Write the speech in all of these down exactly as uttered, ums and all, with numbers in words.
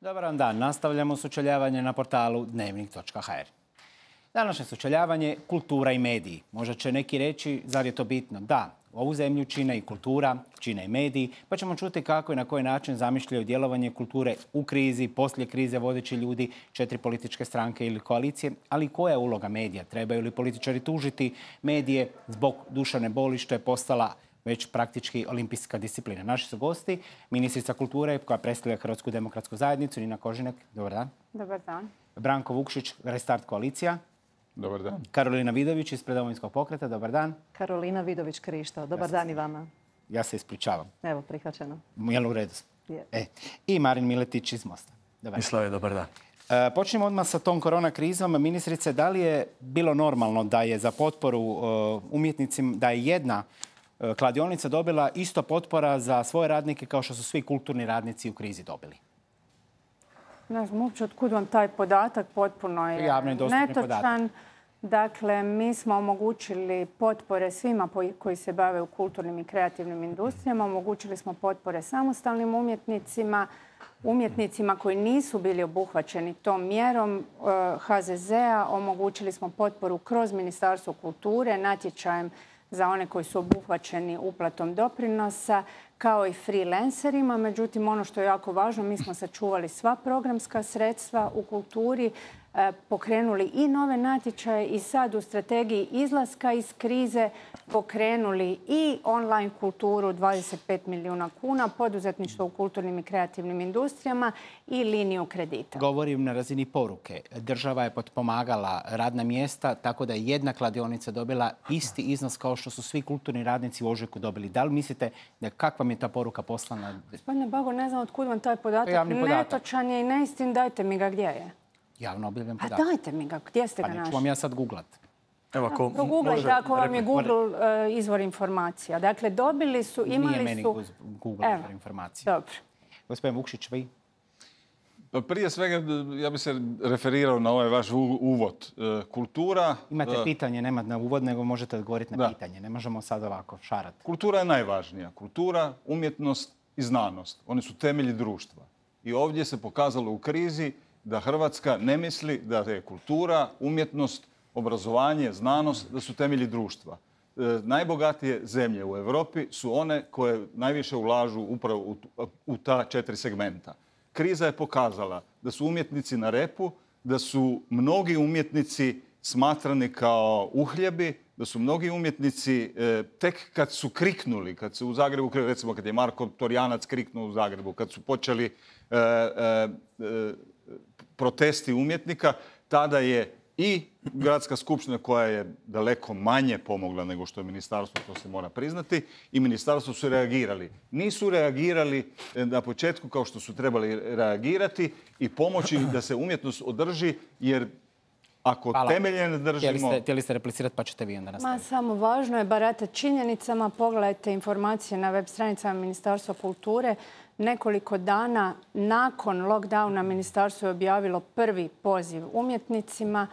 Dobar vam dan. Nastavljamo sučeljavanje na portalu dnevnik točka ha er. Današnje sučeljavanje kultura i mediji. Možda će neki reći, zar je to bitno? Da, ovu zemlju čine i kultura, čine i mediji, pa ćemo čuti kako i na koji način zamišljaju djelovanje kulture u krizi, poslije krize vodeći ljudi, četiri političke stranke ili koalicije, ali koja je uloga medija? Trebaju li političari tužiti medije zbog duševne boli što je postala već praktički olimpijska disciplina? Naši su gosti, ministrica kulture koja predstavlja Hrvatsku demokratsku zajednicu, Nina Kožinek. Dobar dan. Dobar dan. Branko Vukšić, Restart koalicija. Dobar dan. Karolina Vidović ispred Domovinskog pokreta. Dobar dan. Karolina Vidović-Krišto. Dobar dan i vama. Ja se ispričavam. Evo, prihvaćeno. Jel u redu? Je. E. I Marin Miletić iz Mosta. Dobar dan. Mislave, dobar dan. E, počnemo odmah sa tom korona krizom. Ministrice, da li je bilo normalno da je za potporu uh, umjetnicima, da je jedna uh, kladionica dobila isto potpora za svoje radnike kao što su svi kulturni radnici u krizi dobili? Ne znam uopće otkud vam taj podatak, potpuno je Javno i dostupni netočan. podatak. Dakle, mi smo omogućili potpore svima koji se bave u kulturnim i kreativnim industrijama. Omogućili smo potpore samostalnim umjetnicima, umjetnicima koji nisu bili obuhvaćeni tom mjerom ha ze zea. Omogućili smo potporu kroz Ministarstvo kulture, natječajem za one koji su obuhvaćeni uplatom doprinosa, kao i freelancerima. Međutim, ono što je jako važno, mi smo sačuvali sva programska sredstva u kulturi, pokrenuli i nove natječaje i sad u strategiji izlaska iz krize pokrenuli i online kulturu dvadeset pet milijuna kuna, poduzetništvo u kulturnim i kreativnim industrijama i liniju kredita. Govorim na razini poruke. Država je potpomagala radna mjesta tako da je jedna kladionica dobila isti iznos kao što su svi kulturni radnici u ožujku dobili. Da li mislite da kakva mi je ta poruka poslana? Gospodine Bago, ne znam otkud vam taj podatak. Netočan je i neistin, dajte mi ga gdje je. Javno objavljam A podatak. dajte mi ga, gdje ste ga Pa našli? neću vam ja sad googlat. Evo, ako Proguglajte može ako vam je replika. Google uh, izvor informacija. Dakle, dobili su, imali Nije meni su... Google Evo, izvor informacije. dobro. Gospodin Vukšić, vi? Pa prije svega, ja bih se referirao na ovaj vaš u- uvod. E, Kultura... Imate e, pitanje, nemate na uvod, nego možete odgovoriti na Da. pitanje. Ne možemo sad ovako šarati. Kultura je najvažnija. Kultura, umjetnost i znanost. Oni su temelji društva. I ovdje se pokazalo u krizi da Hrvatska ne misli da je kultura, umjetnost, obrazovanje, znanost, da su temelji društva. E, najbogatije zemlje u Europi su one koje najviše ulažu upravo u, tu- u ta četiri segmenta. Kriza je pokazala da su umjetnici na repu, da su mnogi umjetnici smatrani kao uhljebi, da su mnogi umjetnici e, tek kad su kriknuli, kad su u Zagrebu, recimo kad je Marko Torjanac kriknuo u Zagrebu, kad su počeli e, e, e, protesti umjetnika, tada je i Gradska skupština koja je daleko manje pomogla nego što je ministarstvo, to se mora priznati, i ministarstvo su reagirali. Nisu reagirali na početku kao što su trebali reagirati i pomoći da se umjetnost održi, jer ako Hvala. temelje ne Htjeli držimo... ste, htjeli ste replicirati, pa ćete vi onda Ma, nastaviti. samo važno je baratati činjenicama. Pogledajte informacije na web stranicama Ministarstva kulture. Nekoliko dana nakon lockdowna ministarstvo je objavilo prvi poziv umjetnicima.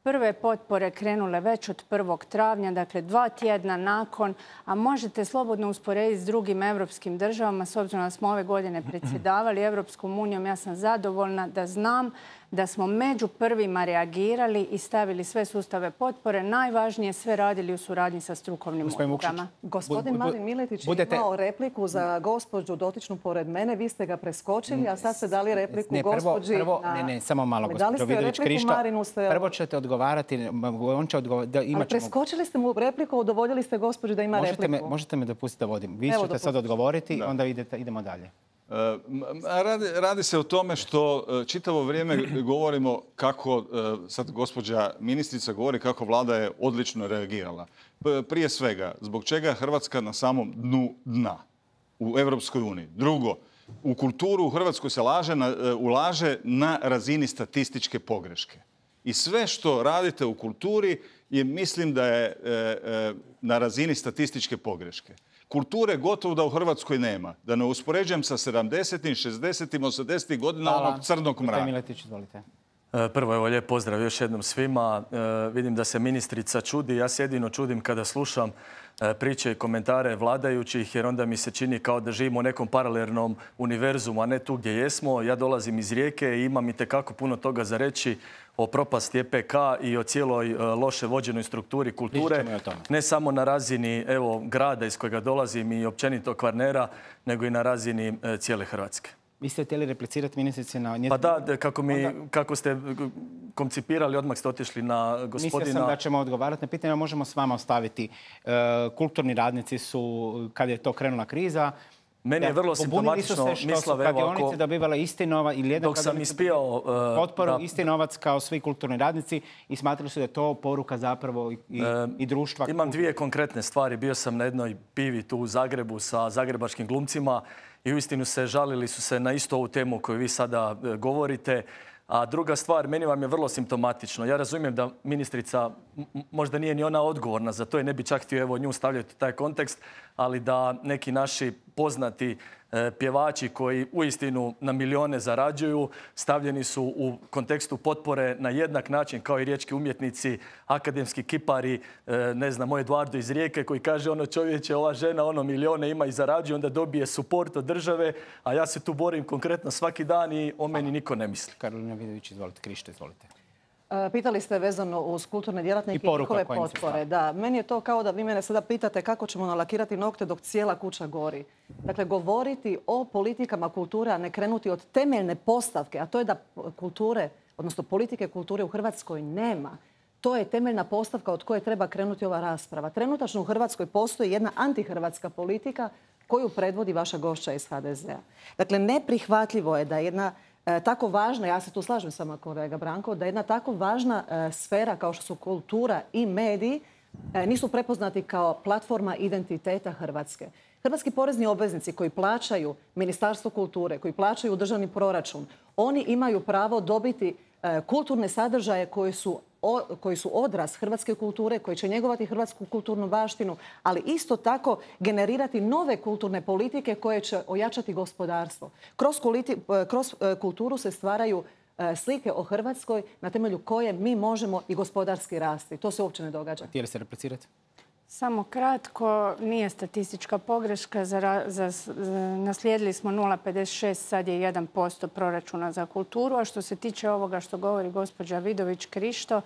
Prve potpore krenule već od prvog travnja, dakle dva tjedna nakon, a možete slobodno usporediti s drugim evropskim državama, s obzirom da smo ove godine predsjedavali Evropskom unijom. Ja sam zadovoljna da znam da smo među prvima reagirali i stavili sve sustave potpore. Najvažnije sve radili u suradnji sa strukovnim Gospodin Vukšić. udrugama. Gospodin Bu- bu- Marin Miletić je budete- imao repliku za gospođu dotičnu pored mene. Vi ste ga preskočili, a sad ste dali repliku Ne, prvo, gospođi... prvo, na- ne, ne, samo malo, Ali dali gospođo ste Vidović repliku Krišto. Marinu, ste... Prvo ćete odgovarati, on će odgovarati, Ali preskočili ste mu repliku, udovoljili ste gospođi da ima možete me, repliku. možete me dopustiti da vodim. Vi Evo, ćete sad dopustite. odgovoriti, Da. onda idete, idemo dalje. E, m- a Radi, radi se o tome što e, čitavo vrijeme govorimo kako, e, sad gospođa ministrica govori kako vlada je odlično reagirala. P- Prije svega, zbog čega je Hrvatska na samom dnu dna u Europskoj uniji. Drugo, u kulturu u Hrvatskoj se laže na, e, ulaže na razini statističke pogreške. I sve što radite u kulturi je, mislim da je e, e, na razini statističke pogreške. Kulture gotovo da u Hrvatskoj nema. Da ne uspoređujem sa sedamdesetim, šezdesetim, osamdesetim godina onog crnog Gospodin mraka. Miletić, izvolite. E, Prvo, evo, lijep pozdrav još jednom svima. E, vidim da se ministrica čudi. Ja se jedino čudim kada slušam priče i komentare vladajućih, jer onda mi se čini kao da živimo u nekom paralelnom univerzumu, a ne tu gdje jesmo. Ja dolazim iz Rijeke i imam itekako puno toga za reći o propasti E P K i o cijeloj loše vođenoj strukturi kulture. Ne samo na razini evo, grada iz kojega dolazim i općenito Kvarnera, nego i na razini cijele Hrvatske. Vi ste htjeli replicirati ministrici na njezinu... Pa da, kako, mi, Onda... kako ste koncipirali, odmah ste otišli na gospodina... Mislio sam da ćemo odgovarati na pitanje, možemo s vama ostaviti. E, kulturni radnici su, kad je to krenula kriza, meni je vrlo simptomatično, Mislave, evo ako... dobivale isti novac ili jedan dok sam ispijao... Uh, potporu, da, isti novac kao svi kulturni radnici i smatrali su da je to poruka zapravo i, i, uh, i društva. Imam dvije konkretne stvari. Bio sam na jednoj pivi tu u Zagrebu sa zagrebačkim glumcima i uistinu se žalili su se na istu ovu temu koju vi sada uh, govorite. A druga stvar, meni vam je vrlo simptomatično. Ja razumijem da ministrica možda nije ni ona odgovorna za to i ne bi čak htio evo nju stavljati u taj kontekst, ali da neki naši poznati e, pjevači koji uistinu na milijone zarađuju, stavljeni su u kontekstu potpore na jednak način kao i riječki umjetnici, akademski kipari, e, ne znam, moj Eduardo iz Rijeke koji kaže ono čovječe, ova žena ono milijone ima i zarađuje, onda dobije suport od države, a ja se tu borim konkretno svaki dan i o meni niko ne misli. Karolina Vidović, izvolite. Krišto, izvolite. Pitali ste vezano uz kulturne djelatnike i njihove potpore. Da, meni je to kao da vi mene sada pitate kako ćemo nalakirati nokte dok cijela kuća gori. Dakle, govoriti o politikama kulture, a ne krenuti od temeljne postavke, a to je da kulture, odnosno politike kulture u Hrvatskoj nema. To je temeljna postavka od koje treba krenuti ova rasprava. Trenutačno u Hrvatskoj postoji jedna antihrvatska politika koju predvodi vaša gošća iz H D Z-a. Dakle, neprihvatljivo je da jedna E, tako važna, ja se tu slažem s vama kolega Branko, da jedna tako važna e, sfera kao što su kultura i mediji e, nisu prepoznati kao platforma identiteta Hrvatske. Hrvatski porezni obveznici koji plaćaju Ministarstvo kulture, koji plaćaju državni proračun, oni imaju pravo dobiti e, kulturne sadržaje koji su O, koji su odraz hrvatske kulture, koji će njegovati hrvatsku kulturnu baštinu, ali isto tako generirati nove kulturne politike koje će ojačati gospodarstvo. Kroz, kuliti, kroz kulturu se stvaraju slike o Hrvatskoj na temelju koje mi možemo i gospodarski rasti. To se uopće ne događa. Htjeli ste replicirati? Samo kratko, nije statistička pogreška. Za, za, za, naslijedili smo nula zarez pedeset šest, sad je jedan posto proračuna za kulturu. A što se tiče ovoga što govori gospođa Vidović Krišto,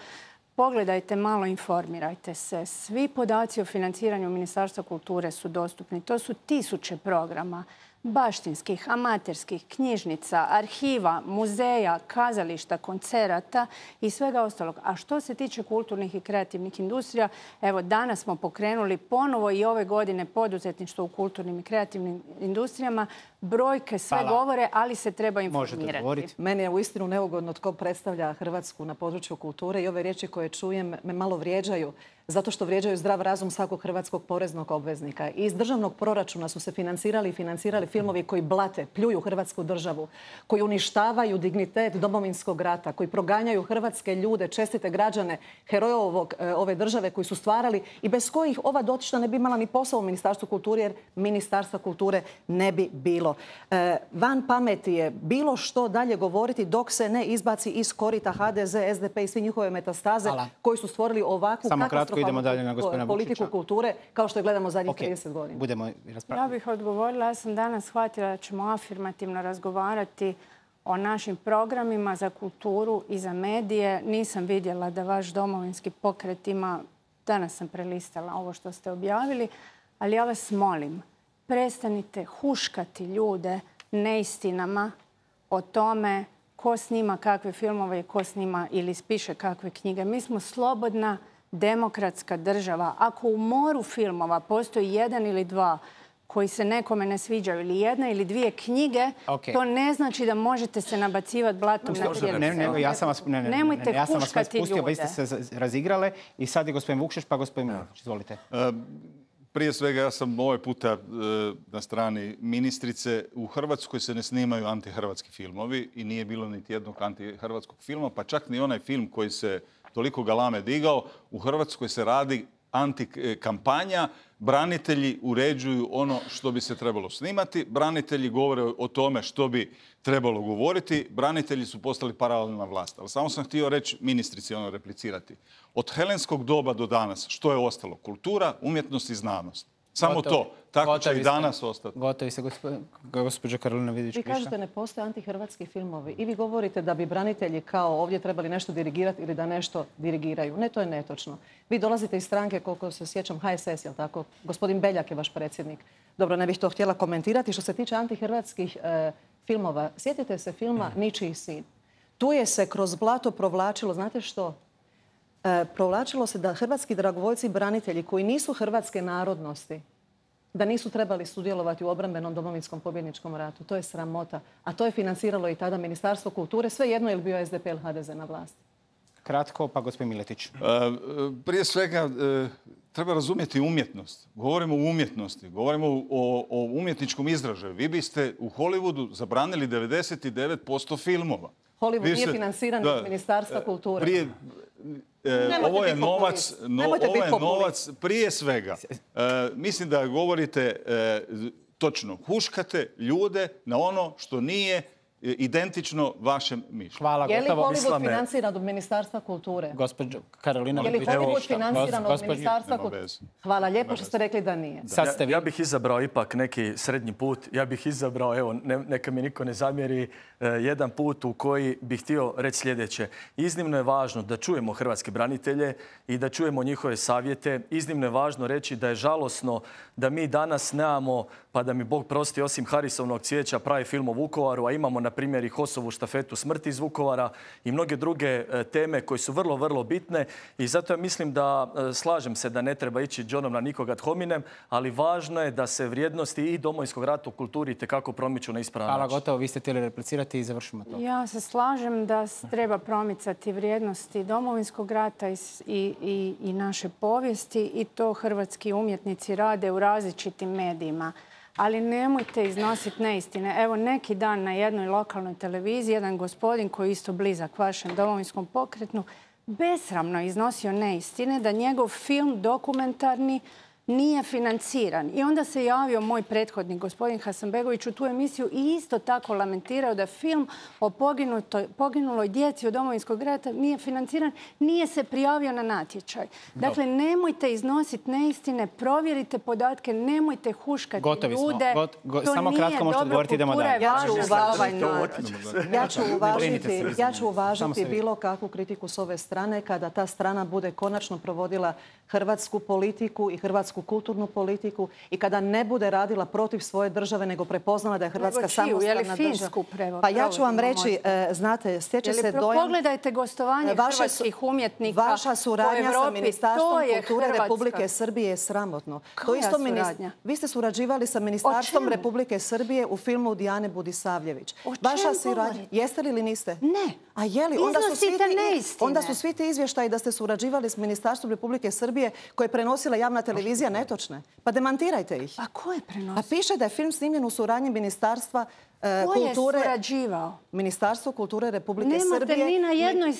pogledajte malo, informirajte se. Svi podaci o financiranju Ministarstva kulture su dostupni. To su tisuće programa. Baštinskih, amaterskih, knjižnica, arhiva, muzeja, kazališta, koncerata i svega ostalog. A što se tiče kulturnih i kreativnih industrija, evo danas smo pokrenuli ponovo i ove godine poduzetništvo u kulturnim i kreativnim industrijama. Brojke sve Hvala. govore, ali se treba informirati. Meni je uistinu neugodno tko predstavlja Hrvatsku na području kulture i ove riječi koje čujem me malo vrijeđaju, zato što vrijeđaju zdrav razum svakog hrvatskog poreznog obveznika. Iz državnog proračuna su se financirali i financirali filmovi koji blate, pljuju Hrvatsku državu, koji uništavaju dignitet Domovinskog rata, koji proganjaju hrvatske ljude, čestite građane, heroje ovog, ove države koji su stvarali i bez kojih ova dotična ne bi imala ni posao u Ministarstvu kulture, jer Ministarstva kulture ne bi bilo. E, van pameti je bilo što dalje govoriti dok se ne izbaci iz korita H D Z, S D P i svi njihove metastaze Hvala. koji su stvorili ovakvu Samo kratko idemo dalje na gospodina politiku Vučića. kulture kao što je gledamo zadnjih okay. trideset godina. Budemo ja bih odgovorila. Ja sam danas shvatila da ćemo afirmativno razgovarati o našim programima za kulturu i za medije. Nisam vidjela da vaš domovinski pokret ima, danas sam prelistala ovo što ste objavili, ali ja vas molim, prestanite huškati ljude neistinama o tome ko snima kakve filmove i ko snima ili piše kakve knjige. Mi smo slobodna demokratska država. Ako u moru filmova postoji jedan ili dva koji se nekome ne sviđaju ili jedna ili dvije knjige, okay. to ne znači da možete se nabacivati blatom na cijelu. Ne, ne, ja sam vas, ne, ne, Nemojte ja sam vas huškati pustio, ljude. Vi ste se razigrale i sad je gospodin Vukšić, pa gospodin Milanović. Izvolite. Uh, prije svega, ja sam ovaj puta uh, na strani ministrice. U Hrvatskoj se ne snimaju antihrvatski filmovi i nije bilo niti jednog antihrvatskog filma, pa čak ni onaj film koji se toliko galame digao. U Hrvatskoj se radi antikampanja. Branitelji uređuju ono što bi se trebalo snimati. Branitelji govore o tome što bi trebalo govoriti. Branitelji su postali paralelna vlast. Ali samo sam htio reći ministrici, ono replicirati. Od helenskog doba do danas što je ostalo? Kultura, umjetnost i znanost. Samo Gotovi. to. Tako će Gotovi i danas ostati. Gotovi se, gospođa Karolina Vidić. Vi kažete ne postoje antihrvatski filmovi i vi govorite da bi branitelji kao ovdje trebali nešto dirigirati ili da nešto dirigiraju. Ne, to je netočno. Vi dolazite iz stranke, koliko se sjećam, H S S, jel tako? Gospodin Beljak je vaš predsjednik. Dobro, ne bih to htjela komentirati. Što se tiče antihrvatskih e, filmova, sjetite se filma Ničiji sin. Tu je se kroz blato provlačilo, znate što? E, provlačilo se da hrvatski dragovoljci branitelji koji nisu hrvatske narodnosti, da nisu trebali sudjelovati u obrambenom domovinskom pobjedničkom ratu. To je sramota. A to je financiralo i tada Ministarstvo kulture. Sve jedno je li bio S D P ili H D Z na vlasti. Kratko, pa gospodin Miletić. E, prije svega, e, treba razumjeti umjetnost. Govorimo o umjetnosti, govorimo o, o umjetničkom izražaju. Vi biste u Hollywoodu zabranili devedeset devet posto filmova. Hollywood nije ste, financiran od Ministarstva kulture. Prije, e, ovo je novac, no, ovo je novac prije svega. E, mislim da govorite e, točno. Huškate ljude na ono što nije identično vašem mišljenju. Hvala, je li gotovo. Hollywood financiran od Ministarstva kulture? Gospođo Karolina. Je li Hollywood financiran od Ministarstva kulture? Hvala lijepo što ste rekli da nije. Da, ja, ja bih izabrao ipak neki srednji put. Ja bih izabrao, evo, ne, neka mi niko ne zamjeri, eh, jedan put u koji bih htio reći sljedeće. Iznimno je važno da čujemo hrvatske branitelje i da čujemo njihove savjete. Iznimno je važno reći da je žalosno da mi danas nemamo, pa da mi Bog prosti, osim Harisovnog cvijeća, pravi film o Vukovaru, a imamo na primjer i Hosovu štafetu smrti iz Vukovara i mnoge druge teme koje su vrlo, vrlo bitne. I zato ja mislim da slažem se da ne treba ići džonom na nikoga ad hominem, ali važno je da se vrijednosti i Domovinskog rata u kulturi itekako promiču na ispravan način. Hvala, gotovo. Vi ste htjeli replicirati i završimo to. Ja se slažem da treba promicati vrijednosti Domovinskog rata i, i, i naše povijesti i to hrvatski umjetnici rade u različitim medijima. Ali nemojte iznositi neistine. Evo, neki dan na jednoj lokalnoj televiziji jedan gospodin koji je isto blizak vašem Domovinskom pokretu besramno iznosio neistine da njegov film dokumentarni nije financiran. I onda se javio moj prethodnik, gospodin Hasanbegović, u tu emisiju i isto tako lamentirao da film o poginuloj djeci od Domovinskog rata nije financiran, nije se prijavio na natječaj. Dakle, nemojte iznositi neistine, provjerite podatke, nemojte huškati Gotovi ljude. Got, go, to samo kratko možete odgovoriti, idemo dalje. Ja ću uvažiti, ja ću uvažiti, ja ću uvažiti bilo kakvu kritiku s ove strane kada ta strana bude konačno provodila hrvatsku politiku i hrvatsku kulturnu politiku i kada ne bude radila protiv svoje države, nego prepoznala da je Hrvatska samostalna država. Pa ja ću vam reći, znate, stječe se dojam... Pogledajte gostovanje hrvatskih umjetnika vaša suradnja sa Ministarstvom kulture Republike Srbije je sramotno. Koja suradnja? Vi ste surađivali sa Ministarstvom Republike Srbije u filmu Dijane Budisavljević. O čemu govorite? Jeste li ili niste? Ne. A je li? Iznosite neistine. Onda su svi ti izvještaji da ste surađivali s Ministarstvom Republike Srbije koje je prenosila javna televizija netočne. Pa demantirajte ih. A ko je prenosio? Pa piše da je film snimljen u suradnji Ministarstva e, ko kulture... je surađivao? Ministarstvo kulture Republike Nemate Srbije... Nemate ni na jednoj,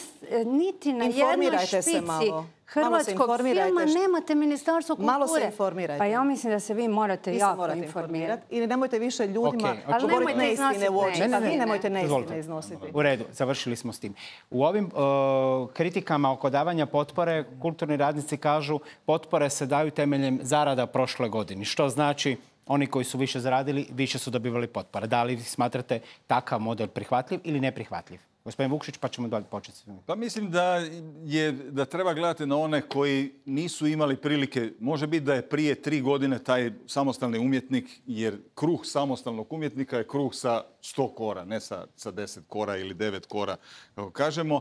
niti na jednoj špici hrvatskog filma, nemate Ministarstvo kulture. Malo se informirajte. Pa ja mislim da se vi morate vi jako morate informirati. I nemojte više ljudima okay, govoriti neistine u oči. Ne, ne, ne, ne, nemojte neistine iznositi. U redu, završili smo s tim. U ovim uh, kritikama oko davanja potpore, kulturni radnici kažu potpore se daju temeljem zarada prošle godine. Što znači oni koji su više zaradili, više su dobivali potpore. Da li smatrate takav model prihvatljiv ili neprihvatljiv? Gospodin Vukšić, pa ćemo dalje početi. Pa mislim da, je, da treba gledati na one koji nisu imali prilike. Može biti da je prije tri godine taj samostalni umjetnik, jer kruh samostalnog umjetnika je kruh sa sto kora, ne sa, sa deset kora ili devet kora, kako kažemo,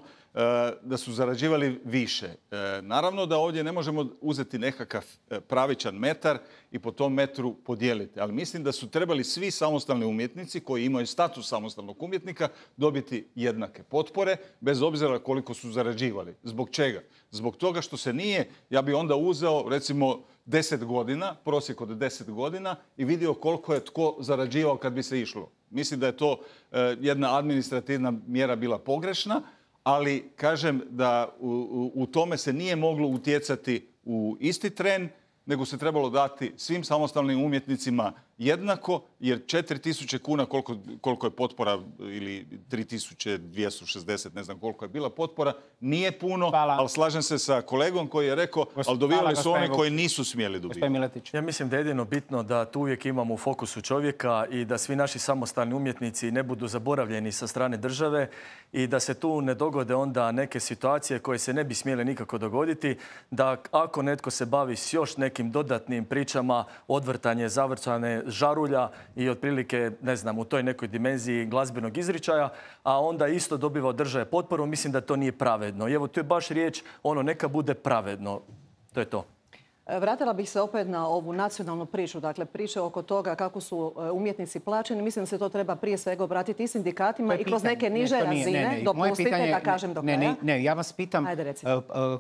da su zarađivali više. Naravno da ovdje ne možemo uzeti nekakav pravičan metar i po tom metru podijeliti. Ali mislim da su trebali svi samostalni umjetnici koji imaju status samostalnog umjetnika dobiti jednake potpore, bez obzira koliko su zarađivali. Zbog čega? Zbog toga što se nije, ja bi onda uzeo recimo deset godina, prosjek od deset godina i vidio koliko je tko zarađivao kad bi se išlo. Mislim da je to jedna administrativna mjera bila pogrešna, ali kažem da u, u tome se nije moglo utjecati u isti tren, nego se trebalo dati svim samostalnim umjetnicima jednako, jer četiri tisuće kuna koliko, koliko je potpora ili tri tisuće dvjesto šezdeset, ne znam koliko je bila potpora, nije puno, hvala. Ali slažem se sa kolegom koji je rekao, ali dobivali su oni koji nisu smjeli dobivati. Ja mislim da je jedino bitno da tu uvijek imamo u fokusu čovjeka i da svi naši samostalni umjetnici ne budu zaboravljeni sa strane države i da se tu ne dogode onda neke situacije koje se ne bi smjele nikako dogoditi, da ako netko se bavi s još nekim dodatnim pričama, odvrtanje, zavrtane žarulja i otprilike, ne znam, u toj nekoj dimenziji glazbenog izričaja, a onda isto dobiva od države potporu, mislim da to nije pravedno. I evo, tu je baš riječ, ono, neka bude pravedno. To je to. Vratila bih se opet na ovu nacionalnu priču, dakle priče oko toga kako su umjetnici plaćeni. Mislim da se to treba prije svega obratiti i sindikatima i kroz neke niže ne, razine. Ne, ne. Dopustite pitanje, da kažem do kraja. Ne, ne, ja vas pitam,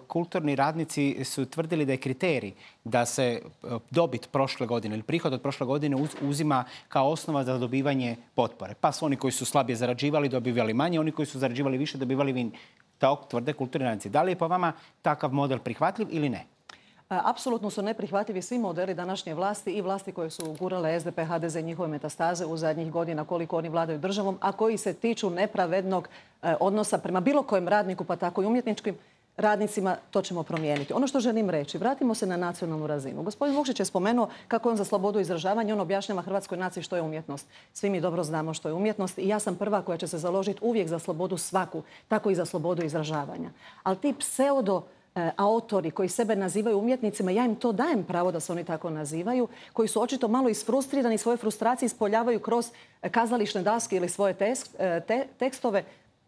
kulturni radnici su tvrdili da je kriterij da se dobit prošle godine ili prihod od prošle godine uzima kao osnova za dobivanje potpore. Pa su oni koji su slabije zarađivali dobivali manje, oni koji su zarađivali više dobivali vin. To tvrde kulturni radnici. Da li je po vama takav model prihvatljiv ili ne? Apsolutno su neprihvatljivi svi modeli današnje vlasti i vlasti koje su gurale es de pe, ha de ze i njihove metastaze u zadnjih godina koliko oni vladaju državom, a koji se tiču nepravednog odnosa prema bilo kojem radniku, pa tako i umjetničkim radnicima. To ćemo promijeniti. Ono što želim reći, vratimo se na nacionalnu razinu. Gospodin Vukšić je spomenuo kako on za slobodu izražavanja, on objašnjava hrvatskoj naciji što je umjetnost. Svi mi dobro znamo što je umjetnost i ja sam prva koja će se založiti uvijek za slobodu svaku, tako i za slobodu izražavanja. Ali ti pseudo autori koji sebe nazivaju umjetnicima, ja im to dajem pravo da se oni tako nazivaju, koji su očito malo isfrustrirani, svoje frustracije ispoljavaju kroz kazališne daske ili svoje tekstove.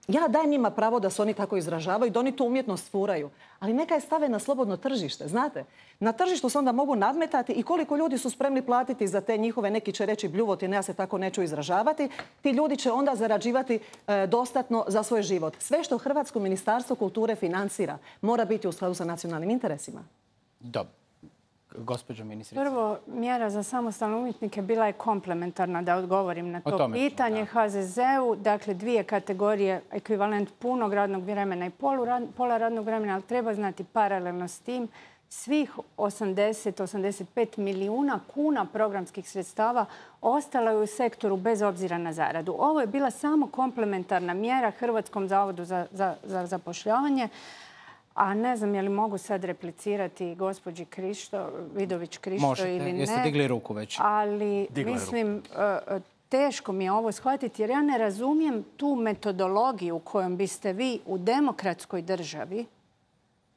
Ja dajem njima pravo da se oni tako izražavaju, da oni tu umjetnost furaju. Ali neka je stave na slobodno tržište, znate. Na tržištu se onda mogu nadmetati i koliko ljudi su spremni platiti za te njihove, neki će reći bljuvotine, ja se tako neću izražavati. Ti ljudi će onda zarađivati e, dostatno za svoj život. Sve što Hrvatsko ministarstvo kulture financira mora biti u skladu sa nacionalnim interesima. Dobro. Gospođo ministrice. Prvo, mjera za samostalne umjetnike bila je komplementarna, da odgovorim na to pitanje. ha ze ze-u, dakle, dvije kategorije, ekvivalent punog radnog vremena i pola radnog vremena, ali treba znati paralelno s tim svih osamdeset do osamdeset pet milijuna kuna programskih sredstava ostala je u sektoru bez obzira na zaradu. Ovo je bila samo komplementarna mjera Hrvatskom zavodu za, za, za zapošljavanje. A ne znam je li mogu sad replicirati gospođi Krišto, Vidović Krišto Možete. Ili ne. Jeste digli ruku već? Ali Digla mislim, ruku. Teško mi je ovo shvatiti jer ja ne razumijem tu metodologiju kojom biste vi u demokratskoj državi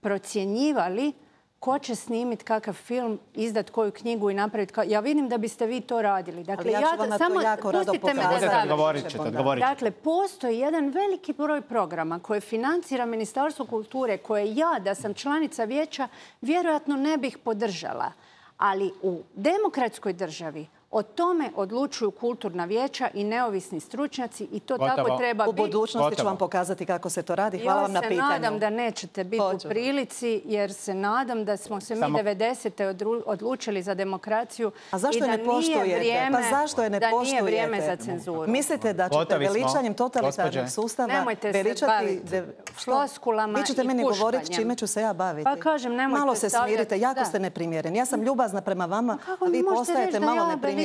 procjenjivali ko će snimiti kakav film, izdat koju knjigu i napraviti. Ja vidim da biste vi to radili. Dakle, ja ću vam na to jako rado pokazati. Dakle, postoji jedan veliki broj programa koje financira Ministarstvo kulture, koje ja, da sam članica vijeća, vjerojatno ne bih podržala. Ali u demokratskoj državi o tome odlučuju kulturna vijeća i neovisni stručnjaci i to Gotovo. Tako treba biti. U budućnosti Gotovo. Ću vam pokazati kako se to radi. Hvala vam na pitanju. Ja se nadam da nećete biti Hoću. U prilici jer se nadam da smo se Samo... mi devedesete odlučili za demokraciju A zašto i da ne poštujete? nije vrijeme, pa zašto je ne da poštujete? Nije vrijeme za cenzuru. Mislite da ćete Gotovi veličanjem totalitarnog sustava nemojte veličati... se baviti floskulama i Vi ćete meni govoriti čime ću se ja baviti. Pa kažem, nemojte Malo se smirite, jako ste neprimjereni. Ja sam ljubazna prema vama, a vi postajete malo neprimjereni.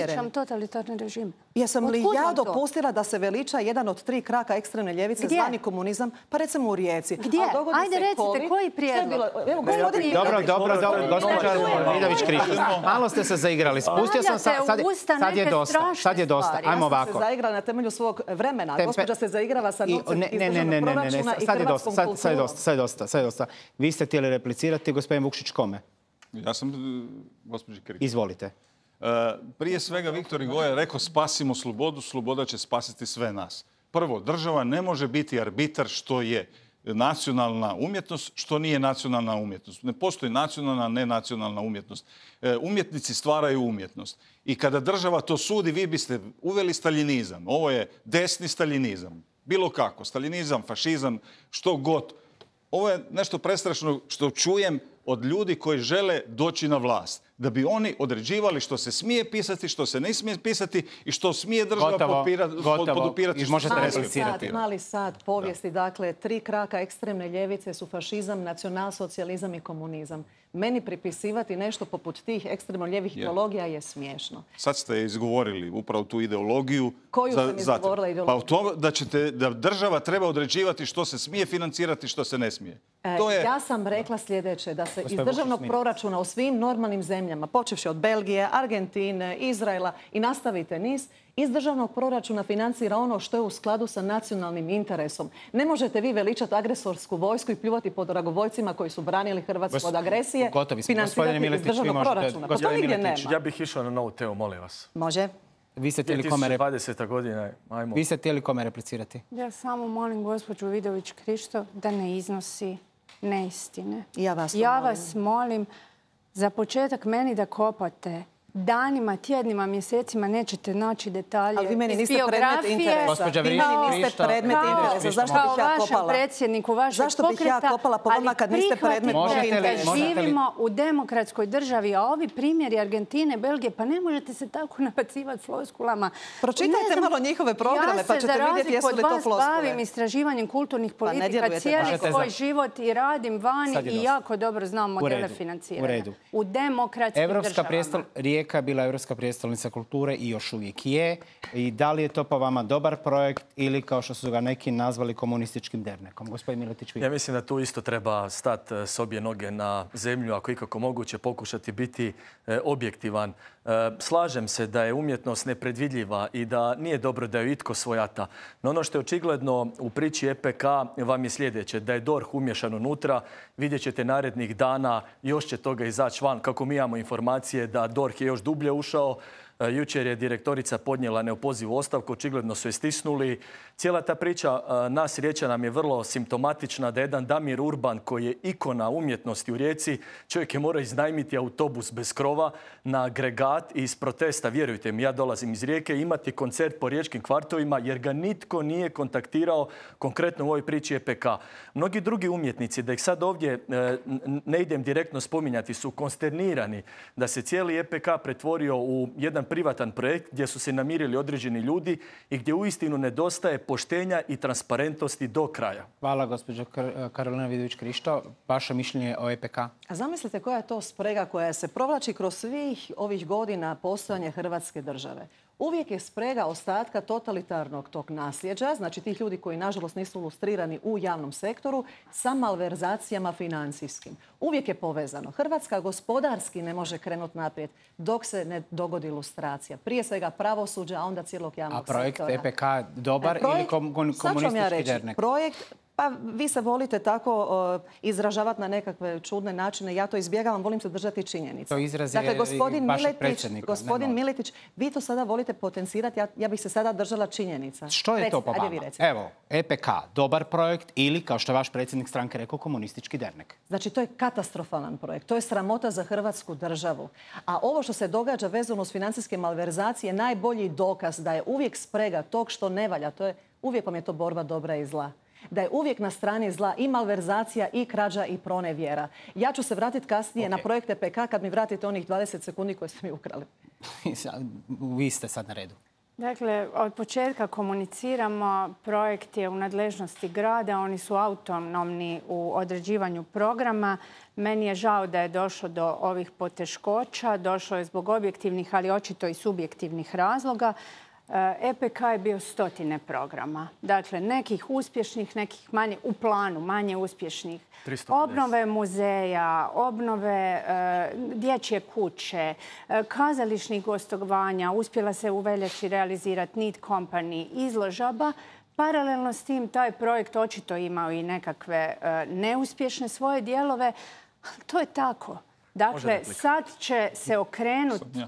Režim. Jesam li ja dopustila da se veliča jedan od tri kraka ekstremne ljevice zvani komunizam, pa recimo u Rijeci. Gdje? Ajde recite, koji prijedlog? Dobro, dobro, dobro, gospođa Vidović Krišto. Malo ste se zaigrali. Spustio sam, sad je dosta. Sad je dosta. Ajmo ovako. Ja sam se zaigrala na temelju svog vremena. Gospođa se zaigrava sa novcem iz državnog proračuna i hrvatskom kulturom. Sad je dosta, sad je dosta, sad je dosta. Vi ste htjeli replicirati, gospodin Vukšić, kome? Ja sam gospođi Krišto. Izvolite. Prije svega Viktor Hugo je rekao spasimo slobodu, sloboda će spasiti sve nas. Prvo, država ne može biti arbitar što je nacionalna umjetnost, što nije nacionalna umjetnost. Ne postoji nacionalna, nenacionalna umjetnost. Umjetnici stvaraju umjetnost. I kada država to sudi, vi biste uveli staljinizam. Ovo je desni staljinizam. Bilo kako. Staljinizam, fašizam, što god. Ovo je nešto prestrašno što čujem od ljudi koji žele doći na vlast. Da bi oni određivali što se smije pisati, što se ne smije pisati i što smije država podupirati. Možete replicirati. Mali sad povijesti, dakle, tri kraka ekstremne ljevice su fašizam, nacionalsocijalizam i komunizam. meni pripisivati nešto poput tih ekstremno lijevih Je. ideologija je smiješno. Sad ste izgovorili upravo tu ideologiju. Koju za- sam zato. izgovorila Pa ideologiju? u tome da, ćete, da država treba određivati što se smije financirati, što se ne smije. E, To je... Ja sam rekla sljedeće, da se iz Gospodin državnog Vučić, proračuna u svim normalnim zemljama, počevši od Belgije, Argentine, Izraela i nastavite niz, iz državnog proračuna financira ono što je u skladu sa nacionalnim interesom. Ne možete vi veličati agresorsku vojsku i pljuvati po dragovoljcima koji su branili Hrvatsku Gos- od agresije, gotovi smo. Gospodine financirati iz Miletić, vi državnog možete- proračuna. Pa to gospodine nigdje Miletić, nema. Ja bih išao na novu temu, molim vas. Može. Vi ste htjeli kome, rep- dvadeseta godina, ajmo. vi ste htjeli kome replicirati? Ja samo molim gospođu Vidović Krišto da ne iznosi neistine. Ja vas to Ja molim. vas molim za početak meni da kopate. Danima, tjednima, mjesecima nećete naći detalje Ali vi meni iz niste predmet biografije. interesa. Gospođa Vi Vriš- meni niste Krišto. predmet Kao- interesa. Zašto bih ja Kao vašem kopala? predsjedniku vašeg Zašto bih ja pokreta, kopala po vama ali kad niste predmet prihvatite mog interesa? da Možete li- živimo u demokratskoj državi, a ovi primjeri Argentine, Belgije, pa ne možete se tako nabacivati floskulama. Pročitajte Ne znam, malo njihove programe, pa ćete Ja se za vidjeti jesu li razliku to od vas floskule. bavim istraživanjem kulturnih Pa ne politika djelujete cijeli tako. svoj život i radim vani Sad je i dosta. jako dobro znam modele redu, financiranja. u redu. U demokratskim Evropska državama. prijestol, Rijeka je bila Europska prijestolnica kulture i još uvijek je. I da li je to po vama dobar projekt ili kao što su ga neki nazvali komunističkim dernekom? Gospodin Miletić, vi. Ja mislim da tu isto treba stati s obje noge na zemlju, ako ikako moguće pokušati biti e, objektivan. E, slažem se da je umjetnost nepredvidljiva i da nije dobro da ju itko svojata. No ono što je očigledno u priči E P K vam je sljedeće, da je D O R H umješan unutra. Vidjet ćete narednih dana, još će toga izaći van, kako mi imamo informacije da D O R H je još dublje ušao. Jučer je direktorica podnijela neopozivu ostavku, očigledno su je stisnuli. Cijela ta priča nas Riječana nam je vrlo simptomatična da jedan Damir Urban, koji je ikona umjetnosti u Rijeci, čovjek je morao iznajmiti autobus bez krova na agregat i iz protesta, vjerujte mi, ja dolazim iz Rijeke, imati koncert po riječkim kvartovima jer ga nitko nije kontaktirao konkretno u ovoj priči E P K. Mnogi drugi umjetnici, da ih sad ovdje ne idem direktno spominjati, su konsternirani da se cijeli E P K pretvorio u jedan privatan projekt gdje su se namirili određeni ljudi i gdje uistinu nedostaje poštenja i transparentnosti do kraja. Hvala, gospođo Kar- Karolina Vidović Krišto. Vaše mišljenje o E P K? A zamislite koja je to sprega koja se provlači kroz svih ovih godina postojanja Hrvatske države. Uvijek je sprega ostatka totalitarnog tog nasljeđa, znači tih ljudi koji nažalost nisu ilustrirani u javnom sektoru, sa malverzacijama financijskim. Uvijek je povezano. Hrvatska gospodarski ne može krenuti naprijed dok se ne dogodi ilustracija. Prije svega pravosuđa, a onda cijelog javnog A projekt sektora. E P K dobar E, projekt- ili kom- kom- sad ću vam ja komunistički reći, dernek? Projekt, pa vi se volite tako uh, izražavati na nekakve čudne načine. Ja to izbjegavam, volim se držati činjenica. To izraz je dakle, gospodin i vašeg Miletić, predsjednika, gospodin ne moj. Miletić, vi to sada volite potencirati, ja, ja bih se sada držala činjenica. Što je to po Recite, ajde vama? vi recite. Evo, E P K, dobar projekt ili, kao što je vaš predsjednik stranke rekao, komunistički dernek? Znači, to je katastrofalan projekt. To je sramota za Hrvatsku državu. A ovo što se događa vezano uz financijske malverzacije je najbolji dokaz da je uvijek sprega tog što ne valja. To je, uvijek vam je to borba dobra i zla. Da je uvijek na strani zla i malverzacija i krađa i pronevjera. Ja ću se vratiti kasnije Ok. na projekt E P K kad mi vratite onih dvadeset sekundi koje ste mi ukrali. Vi ste sad na redu. Dakle, od početka komuniciramo, projekt je u nadležnosti grada, oni su autonomni u određivanju programa. Meni je žao da je došlo do ovih poteškoća, došlo je zbog objektivnih, ali očito i subjektivnih razloga. E P K je bio stotine programa. Dakle, nekih uspješnih, nekih manje, u planu, manje uspješnih. tristo pedeset. Obnove muzeja, obnove e, dječje kuće, e, kazališnih gostovanja. Uspjela se u veljači realizirati Need Company, izložaba. Paralelno s tim taj projekt očito imao i nekakve e, neuspješne svoje dijelove. To je tako. Dakle, sad će se okrenuti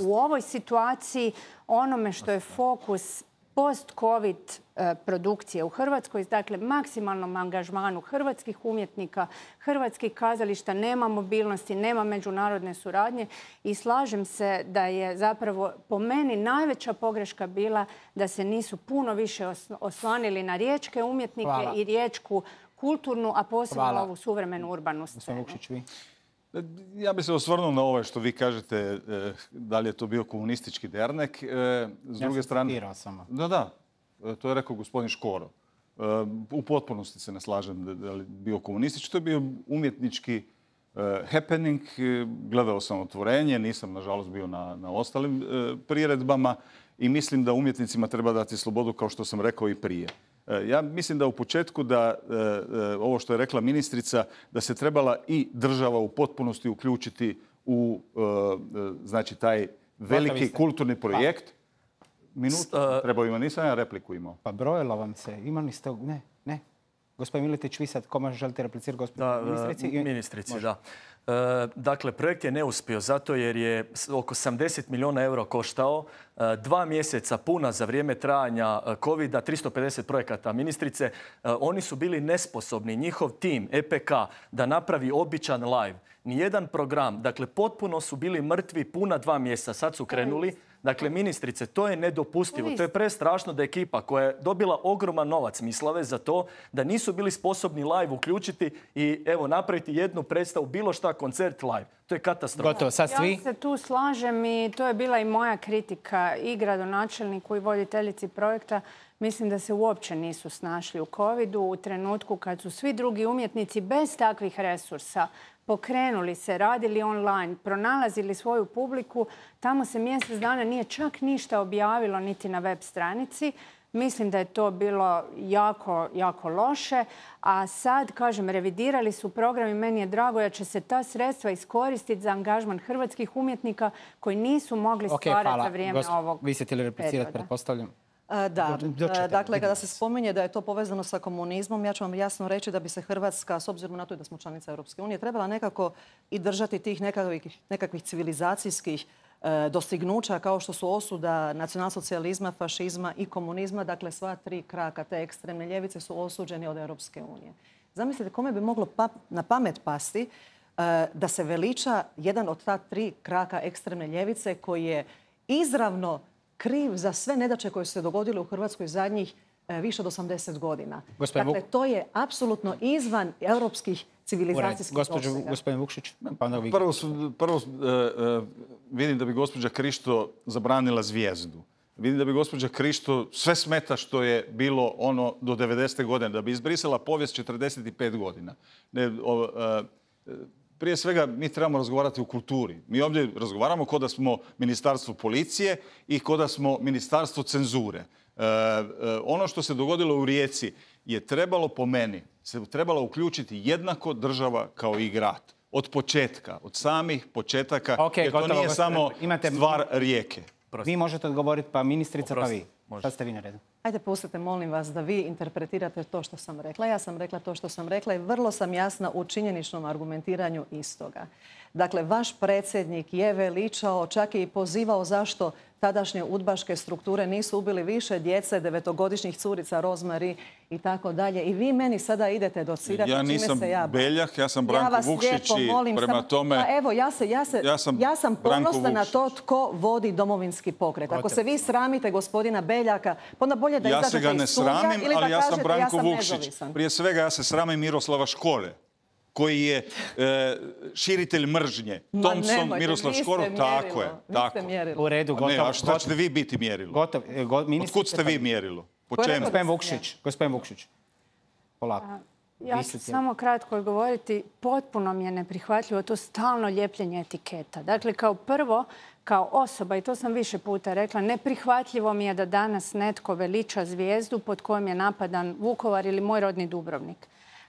u ovoj situaciji onome što je fokus post-covid produkcije u Hrvatskoj, dakle maksimalnom angažmanu hrvatskih umjetnika, hrvatskih kazališta, nema mobilnosti, nema međunarodne suradnje i slažem se da je zapravo po meni najveća pogreška bila da se nisu puno više oslonili na riječke umjetnike Hvala. i riječku kulturnu, a posebno Hvala. ovu suvremenu urbanu scenu. Vukšić, vi? Ja bih se osvrnuo na ovo što vi kažete, e, da li je to bio komunistički dernek. E, s Ja druge sam strane... citirao samo. Da, da. E, to je rekao gospodin Škoro. E, u potpunosti se ne slažem da, da li je bio komunistički. To je bio umjetnički happening. Gledao sam Otvorenje, nisam nažalost bio na, na ostalim priredbama i mislim da umjetnicima treba dati slobodu, kao što sam rekao i prije. Ja mislim da u početku da ovo što je rekla ministrica, da se trebala i država u potpunosti uključiti u znači taj veliki kulturni projekt. Minutu, trebao ima, nisam ja repliku imao. Pa brojilo vam se, imali ste, ne, ne. Gospodin Miletić, vi sad kome želite replicirati, gospodin ministrici? Ministrici, da. Dakle, projekt je neuspio zato jer je oko sedamdeset milijuna eura koštao, dva mjeseca puna za vrijeme trajanja covida, tristo pedeset projekata ministrice. Oni su bili nesposobni, njihov tim, E P K, da napravi običan live. Nijedan program, dakle, potpuno su bili mrtvi puna dva mjeseca, sad su krenuli. Dakle, ministrice, to je nedopustivo. To je prestrašno da ekipa koja je dobila ogroman novac, mislave za to, da nisu bili sposobni live uključiti i evo napraviti jednu predstavu, bilo šta, koncert live. To je katastrofa. Gotovo, sad svi. Ja se tu slažem i to je bila i moja kritika i gradonačelniku i voditeljici projekta. Mislim da se uopće nisu snašli u covidu u trenutku kad su svi drugi umjetnici bez takvih resursa pokrenuli se, radili online, pronalazili svoju publiku. Tamo se mjesec dana nije čak ništa objavilo niti na web stranici. Mislim da je to bilo jako, jako loše. A sad, kažem, revidirali su program i meni je drago da će se ta sredstva iskoristiti za angažman hrvatskih umjetnika koji nisu mogli stvarati za vrijeme ovog Vi ste htjeli replicirati, pretpostavljam. Da, dakle, kada se spominje da je to povezano sa komunizmom, ja ću vam jasno reći da bi se Hrvatska, s obzirom na to da smo članica Europske unije, trebala nekako i držati tih nekakvih, nekakvih civilizacijskih dostignuća kao što su osuda nacionalsocijalizma, fašizma i komunizma. Dakle, sva tri kraka te ekstremne ljevice su osuđeni od Europske unije. Zamislite kome bi moglo pa, na pamet pasti da se veliča jedan od ta tri kraka ekstremne ljevice koji je izravno kriv za sve nedaće koje su se dogodile u Hrvatskoj zadnjih e, više od osamdeset godina. Gospodin dakle, to je apsolutno izvan europskih civilizacijskih dosega. Gospodin Vukšić, pa onda vi. Prvo, prvo e, e, vidim da bi gospođa Krišto zabranila Zvijezdu. Vidim da bi gospođa Krišto sve smeta što je bilo ono do devedesete godine, da bi izbrisala povijest četrdeset pet godina. Ne, o, e, Prije svega, mi trebamo razgovarati o kulturi. Mi ovdje razgovaramo kao da smo ministarstvo policije i kao da smo ministarstvo cenzure. E, e, ono što se dogodilo u Rijeci je trebalo, po meni, se trebala uključiti jednako država kao i grad. Od početka, od samih početaka, okay, jer gotovo, to nije gotovo. samo Imate... stvar Rijeke. Prosti. Vi možete odgovoriti, pa ministrica, Oprosti. pa vi. Može. Šta ste vi na redu? Ajde, pustite, molim vas, da vi interpretirate to što sam rekla. Ja sam rekla to što sam rekla i vrlo sam jasna u činjeničnom argumentiranju istoga. Dakle, vaš predsjednik je veličao, čak je i pozivao zašto tadašnje udbaške strukture nisu ubili više djece, devetogodišnjih curica, Rozmari i tako dalje. I vi meni sada idete docirati. Ja nisam se ja... Beljak, ja sam Branko ja Vukšić i prema sam... tome... Pa evo, ja, se, ja, se, ja sam, ja sam ponosna na to tko vodi Domovinski pokret. Ako se vi sramite gospodina Beljaka, onda bolje da ja izađete se ga ne iz studija sramim, ili da ali ja sam kažete Branko ja sam Vukšić. nezavisan. Prije svega ja se sramim Miroslava Škore, koji je e, širitelj mržnje. Thompson, nemojte, Miroslav Škoro, tako je. Tako. U redu, gotovo. A, ne, a šta ćete vi biti mjerilo? Gotov, go, Otkud ste vi mjerilo? Po čemu? Gospodin Vukšić, gospodin Vukšić. Polako. Ja ću samo kratko odgovoriti. Potpuno mi je neprihvatljivo to stalno ljepljenje etiketa. Dakle, kao prvo, kao osoba, i to sam više puta rekla, neprihvatljivo mi je da danas netko veliča zvijezdu pod kojom je napadan Vukovar ili moj rodni Dubrovnik.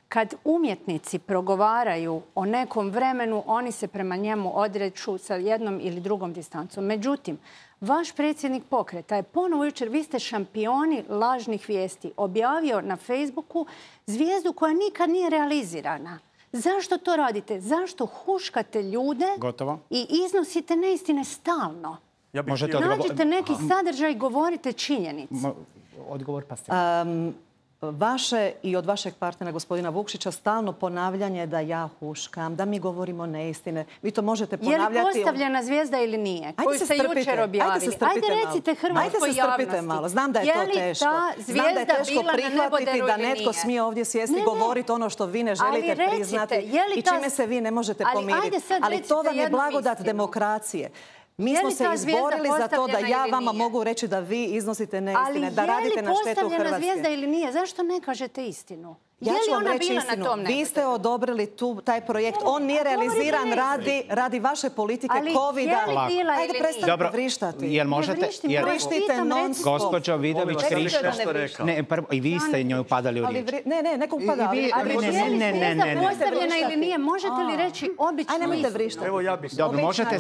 Kad umjetnici progovaraju o nekom vremenu, oni se prema njemu odreću sa jednom ili drugom distancom. Međutim, vaš predsjednik pokreta je ponovo jučer, vi ste šampioni lažnih vijesti, objavio na Facebooku zvijezdu koja nikad nije realizirana. Zašto to radite? Zašto huškate ljude Gotovo. i iznosite neistine stalno? Ja bih Možete odgovor... Nađite neki sadržaj i govorite činjenice. Odgovor pa ste. Um, Vaše i od vašeg partnera, gospodina Vukšića, stalno ponavljanje da ja huškam, da mi govorimo neistine. Vi to možete ponavljati... Je li postavljena zvijezda ili nije? Ajde koju ste jučer objavili. Ajde se strpite Ajde recite hrvatskoj javnosti. Malo. Znam da je, je to teško. Znam da je teško prihvatiti da netko smije ovdje sjesti i govoriti ono što vi ne želite recite, priznati i čime se vi ne možete pomiriti. Ali to vam je blagodat istinu. demokracije. Mi smo se izborili za to da ja vama mogu reći da vi iznosite neistine, da radite na štetu Hrvatske. Ali je li postavljena zvijezda ili nije? Zašto ne kažete istinu? Ja ću vam reći istinu. Vi ste odobrili tu, taj projekt. On nije realiziran radi, radi vaše politike covida. Ajde, prestanite vrištati. Jel možete... Vrištite non-stop. Gospođo Vidović, vrišta. Ne, prvo, i vi ste njoj upadali u riječ. Ne, ne, nekom upada. Ali je li zvijezda postavljena ili nije? Možete li reći običnu istinu? Aj, nemojte vrištati. Evo ja bih... Dobro, možete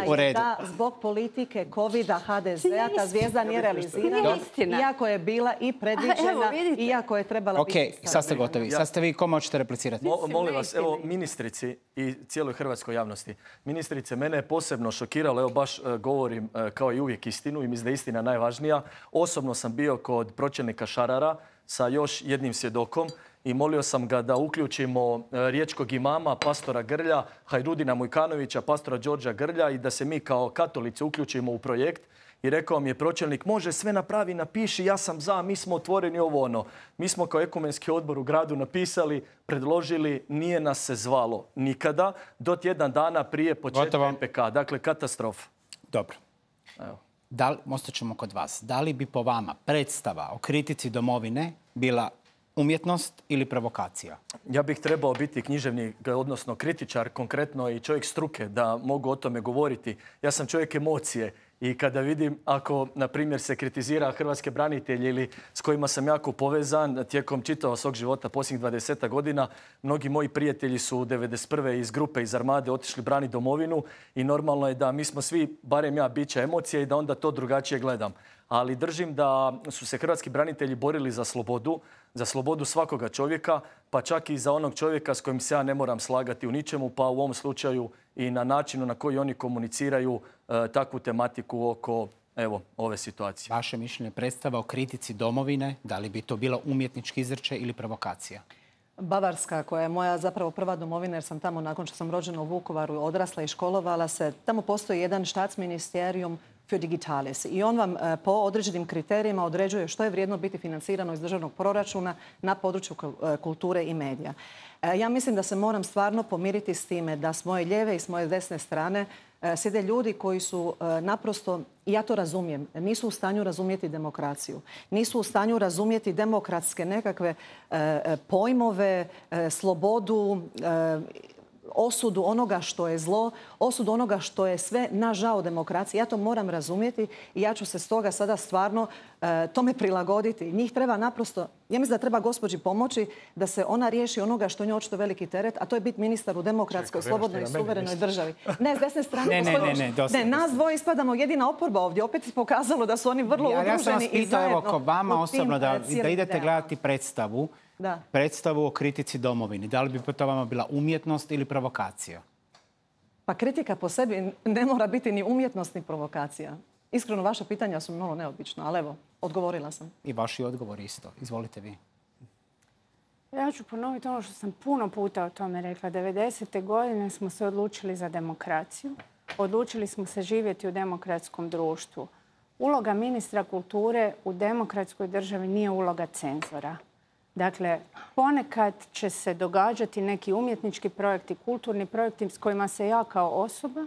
u redu. Da, zbog politike covida ha de zea ta zvijezda nije realizirana. Iako je bila i predviđena, iako je trebala biti... Ok, sad ste gotovi. Sad ste vi, ko možete replicirati? Molim vas, evo, ministrici i cijeloj hrvatskoj javnosti. Ministrice, mene je posebno šokiralo, evo baš govorim kao i uvijek istinu i mislim da je istina najvažnija. Osobno sam bio kod pročelnika Šarara sa još jednim svjedokom i molio sam ga da uključimo riječkog imama, pastora Grlja, Hajrudina Mujkanovića, pastora Đorđa Grlja i da se mi kao katolici uključimo u projekt. I rekao mi je pročelnik, može sve napravi, napiši, ja sam za, mi smo otvoreni ovo ono. Mi smo kao ekumenski odbor u gradu napisali, predložili, nije nas se zvalo nikada do tjedan dana prije početka en pe ka. Dakle, katastrofa. Dobro. Evo. Da li, ostat ćemo kod vas. Da li bi po vama predstava o kritici domovine bila umjetnost ili provokacija? Ja bih trebao biti književnik, odnosno kritičar, konkretno i čovjek struke, da mogu o tome govoriti. Ja sam čovjek emocije. I kada vidim, ako, na primjer, se kritizira hrvatske branitelje ili s kojima sam jako povezan tijekom čitavog svog života posljednjih dvadeset godina, mnogi moji prijatelji su devedeset prve iz grupe, iz armade otišli braniti domovinu i normalno je da mi smo svi, barem ja, bića emocije i da onda to drugačije gledam. Ali držim da su se hrvatski branitelji borili za slobodu, za slobodu svakoga čovjeka, pa čak i za onog čovjeka s kojim se ja ne moram slagati u ničemu, pa u ovom slučaju i na načinu na koji oni komuniciraju e, takvu tematiku oko evo, ove situacije. Vaše mišljenje, predstava o kritici domovine, da li bi to bila umjetnički izričaj ili provokacija? Bavarska, koja je moja zapravo prva domovina, jer sam tamo nakon što sam rođena u Vukovaru odrasla i školovala se, tamo postoji jedan Staatsministerium für Digitales i on vam po određenim kriterijima određuje što je vrijedno biti financirano iz državnog proračuna na području kulture i medija. Ja mislim da se moram stvarno pomiriti s time da s moje lijeve i s moje desne strane sjede ljudi koji su naprosto, i ja to razumijem, nisu u stanju razumjeti demokraciju. Nisu u stanju razumjeti demokratske nekakve pojmove, slobodu, osudu onoga što je zlo, osudu onoga što je sve na žao demokracije. Ja to moram razumjeti i ja ću se stoga sada stvarno e, tome prilagoditi. Njih treba naprosto, ja mislim da treba gospođi pomoći da se ona riješi onoga što je očito veliki teret, a to je biti ministar u demokratskoj, slobodnoj i suverenoj državi. Ne, s desne strane, ne, ne, ne, ne, nas dvoje ispadamo jedina oporba ovdje. Opet je pokazalo da su oni vrlo udruženi i zajedno. Ja sam vas pitao, evo, ko vama osobno, da, da idete gledati predstavu, Da. predstavu o kritici domovini. Da li bi to vama bila umjetnost ili provokacija? Pa kritika po sebi ne mora biti ni umjetnost ni provokacija. Iskreno, vaša pitanja su malo neobična, ali evo, odgovorila sam. I vaši odgovori isto. Izvolite vi. Ja ću ponoviti ono što sam puno puta o tome rekla. devedesete godine smo se odlučili za demokraciju. Odlučili smo se živjeti u demokratskom društvu. Uloga ministra kulture u demokratskoj državi nije uloga cenzora. Dakle, ponekad će se događati neki umjetnički projekti, kulturni projekti s kojima se ja kao osoba,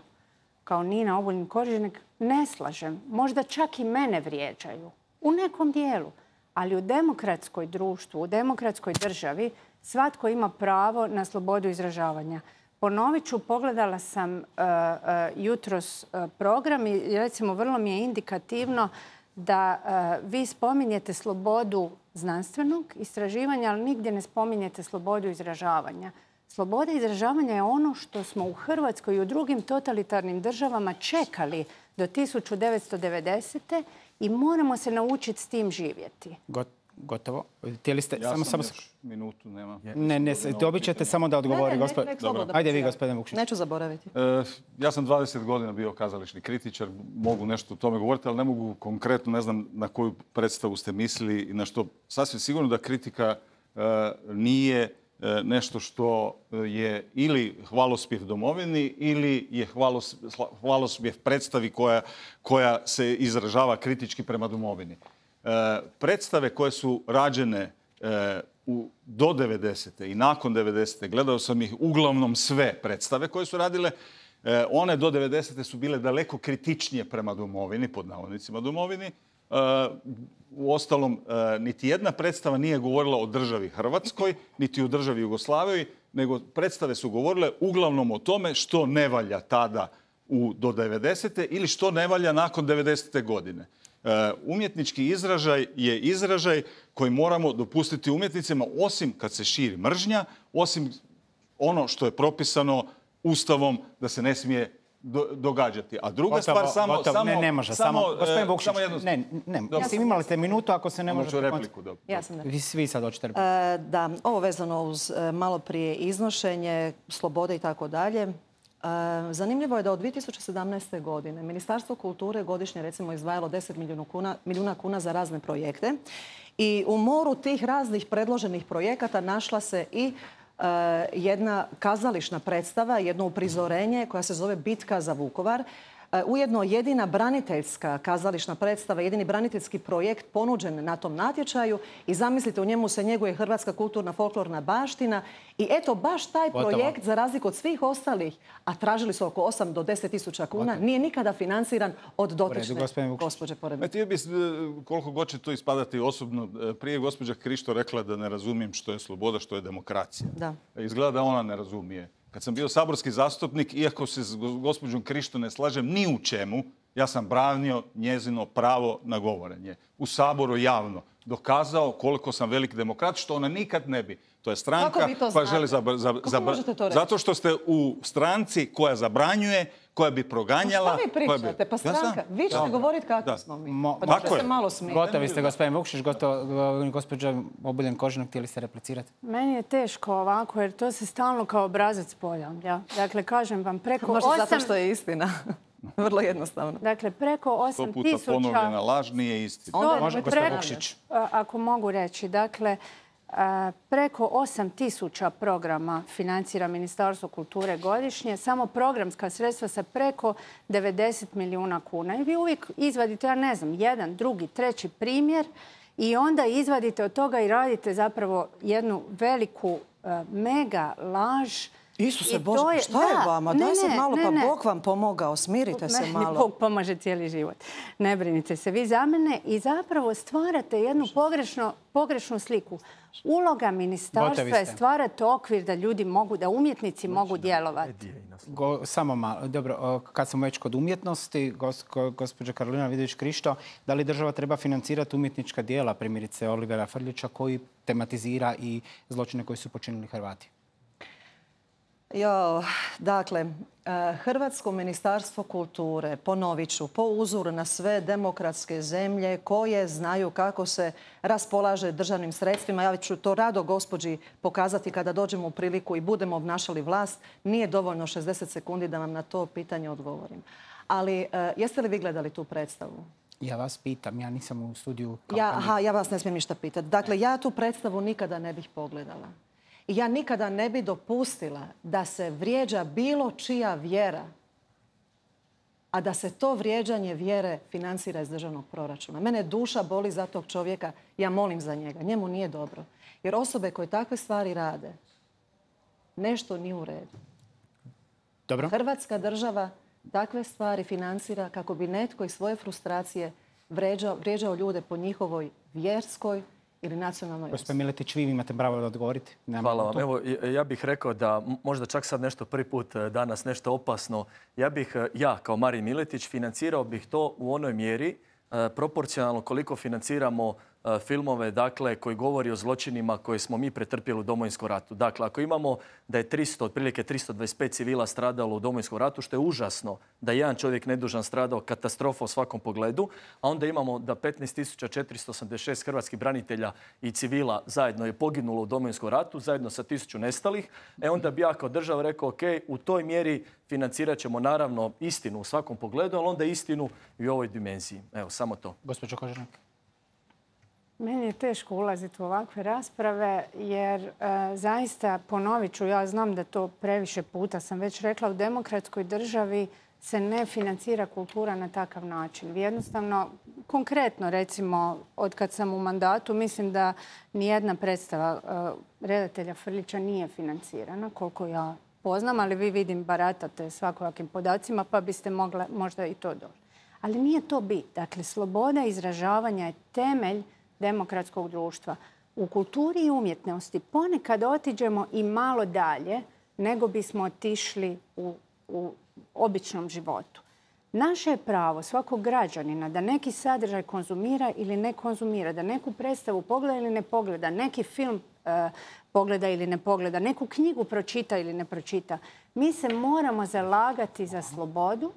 kao Nina Obuljen Koržinek, ne slažem. Možda čak i mene vrijeđaju. U nekom dijelu. Ali u demokratskoj društvu, u demokratskoj državi, svatko ima pravo na slobodu izražavanja. Ponovit ću, pogledala sam uh, uh, jutros uh, program i recimo vrlo mi je indikativno da uh, vi spominjete slobodu znanstvenog istraživanja, ali nigdje ne spominjete slobodu izražavanja. Sloboda izražavanja je ono što smo u Hrvatskoj i u drugim totalitarnim državama čekali do tisuću devetsto devedesete. i moramo se naučiti s tim živjeti. Got, gotovo. Htjeli ste... Ja samo, sam samo... još minutu, nema. Ne, ne, dobit ćete samo da odgovori. Ne, ne, ne, ne, Ajde vi, gospodine Vukšić. Neću zaboraviti. E, ja sam dvadeset godina bio kazališni kritičar, mogu nešto o tome govoriti, ali ne mogu konkretno, ne znam na koju predstavu ste mislili i na što. Sasvim sigurno da kritika e, nije e, nešto što je ili hvalospjev domovini ili je hvalos, hvalospjev predstavi koja, koja se izražava kritički prema domovini. E, predstave koje su rađene e, u, do devedesete i nakon devedesete, gledao sam ih uglavnom sve predstave koje su radile, e, one do devedesete su bile daleko kritičnije prema domovini, pod navodnicima domovini, Uostalom, niti jedna predstava nije govorila o državi Hrvatskoj, niti o državi Jugoslaviji, nego predstave su govorile uglavnom o tome što ne valja tada u, do devedesete ili što ne valja nakon devedesete godine. Umjetnički izražaj je izražaj koji moramo dopustiti umjetnicima, osim kad se širi mržnja, osim ono što je propisano Ustavom da se ne smije do, događati. A druga gotovo, stvar, samo... Gotovo, samo ne, ne može. Samo, samo, gospodin Vukšić, samo jedno... ne, ne. Mislim, imali ste minutu, ako se ne možete... repliku, dobro. Ja sam Vi svi sad hoćete repliku. E, da, ovo vezano uz malo prije iznošenje, slobode i tako dalje. Zanimljivo je da od dvije tisuće sedamnaeste. godine Ministarstvo kulture godišnje recimo izdvajalo deset milijuna kuna, milijuna kuna za razne projekte i u moru tih raznih predloženih projekata našla se i uh, jedna kazališna predstava, jedno uprizorenje koja se zove Bitka za Vukovar. Ujedno jedina braniteljska kazališna predstava, jedini braniteljski projekt ponuđen na tom natječaju i zamislite, u njemu se njeguje hrvatska kulturna folklorna baština i eto baš taj projekt, za razliku od svih ostalih, a tražili su oko osam do deset tisuća kuna, nije nikada financiran od dotične gospođe pored mene. Htio bih, koliko god će to ispadati osobno, prije gospođa Krišto rekla da ne razumijem što je sloboda, što je demokracija. Da. Izgleda da ona ne razumije. Kad sam bio saborski zastupnik, iako se s gospođom Krišto ne slažem ni u čemu, ja sam branio njezino pravo na govorenje. U Saboru javno. Dokazao koliko sam velik demokrat, što ona nikad ne bi. To je stranka koja želi zabraniti. Zato što ste u stranci koja zabranjuje, koja bi proganjala... Pa što vi pričate? Pa stranka. Vi ćete govoriti kako smo mi. Pa da se malo smijete. Gotovi ste, gospodin Vukšić, gospođa Obuljen Koržinek, htjeli ste replicirati? Meni je teško ovako, jer to se stalno kao obrazac ponavlja. Dakle, kažem vam, preko osam... Možda zato što je istina. Vrlo jednostavno. Dakle, preko osam tisuća... Sto puta ponovljena laž nije istina. Može, gospodin Vukšić. Ako mogu reći, dakle, preko osam tisuća programa financira Ministarstvo kulture godišnje, samo programska sredstva sa preko devedeset milijuna kuna. I vi uvijek izvadite, ja ne znam, jedan, drugi, treći primjer i onda izvadite od toga i radite zapravo jednu veliku mega laž. Isuse Bože, šta je vama? Daj sad malo, pa Bog vam pomogao, smirite se malo. Bog pomaže cijeli život. Ne brinite se vi za mene i zapravo stvarate jednu pogrešnu sliku. Uloga ministarstva je stvarati okvir da ljudi mogu, da umjetnici mogu djelovati. Samo malo. Dobro, kad smo već kod umjetnosti, gospođa Karolina Vidović-Krišto, da li država treba financirati umjetnička djela, primjerice Olivera Frljića, koji tematizira i zločine koji su počinili Hrvati? Jo, dakle, Hrvatsko ministarstvo kulture, ponovit ću, po uzoru na sve demokratske zemlje koje znaju kako se raspolaže državnim sredstvima, ja ću to rado gospođi pokazati kada dođemo u priliku i budemo obnašali vlast, nije dovoljno šezdeset sekundi da vam na to pitanje odgovorim. Ali jeste li vi gledali tu predstavu? Ja vas pitam, ja nisam u studiju. Ja, aha, ja vas ne smijem ništa pitati. Dakle, ja tu predstavu nikada ne bih pogledala. I ja nikada ne bi dopustila da se vrijeđa bilo čija vjera, a da se to vrijeđanje vjere financira iz državnog proračuna. Mene duša boli za tog čovjeka, ja molim za njega. Njemu nije dobro. Jer osobe koje takve stvari rade, nešto nije u redu. Dobro. Hrvatska država takve stvari financira kako bi netko iz svoje frustracije vrijeđao, vrijeđao ljude po njihovoj vjerskoj ili nacionalnoj osnovi. Gospodin Miletić, vi imate pravo da odgovorite. Hvala vam. Evo, ja bih rekao da možda čak sad nešto prvi put danas nešto opasno. Ja bih, ja kao Marin Miletić, financirao bih to u onoj mjeri proporcionalno koliko financiramo filmove, dakle, koji govori o zločinima koje smo mi pretrpjeli u Domovinskom ratu. Dakle, ako imamo da je tristo, otprilike tristo dvadeset pet civila stradalo u Domovinskom ratu, što je užasno da jedan čovjek nedužan stradao, katastrofa u svakom pogledu, a onda imamo da petnaest tisuća četiristo osamdeset šest hrvatskih branitelja i civila zajedno je poginulo u Domovinskom ratu, zajedno sa tisuću nestalih, e onda bi ja kao država rekao, ok, u toj mjeri financirat ćemo naravno istinu u svakom pogledu, ali onda istinu i u ovoj dimenziji. Evo, samo to. Gospođo Koržinek. Meni je teško ulaziti u ovakve rasprave jer e, zaista, ponovit ću, ja znam da to previše puta sam već rekla, u demokratskoj državi se ne financira kultura na takav način. Vi jednostavno, konkretno recimo, od kad sam u mandatu, mislim da nijedna predstava e, redatelja Frljića nije financirana, koliko ja poznam, ali vi vidim baratate svakojakim podacima, pa biste mogla možda i to doći. Ali nije to bit. Dakle, sloboda izražavanja je temelj demokratskog društva. U kulturi i umjetnosti ponekad otiđemo i malo dalje nego bismo otišli u, u običnom životu. Naše je pravo svakog građanina da neki sadržaj konzumira ili ne konzumira, da neku predstavu pogleda ili ne pogleda, neki film e, pogleda ili ne pogleda, neku knjigu pročita ili ne pročita. Mi se moramo zalagati za slobodu,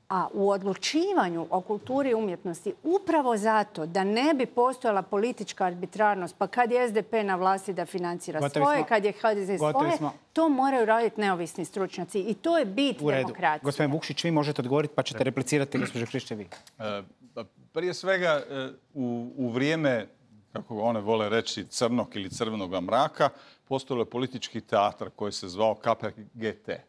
a u odlučivanju o kulturi i umjetnosti upravo zato da ne bi postojala politička arbitrarnost, pa kad je S D P na vlasti da financira Gotovi svoje, smo. kad je H D Z svoje, smo. to moraju raditi neovisni stručnjaci i to je bit U redu. demokracije. Gospodin Vukšić, vi možete odgovoriti pa ćete replicirati, gospođo Krišćevi. E, prije svega, e, u, u vrijeme, kako one vole reći, crnog ili crvenoga mraka, postojalo je politički teatr koji se zvao K P G T.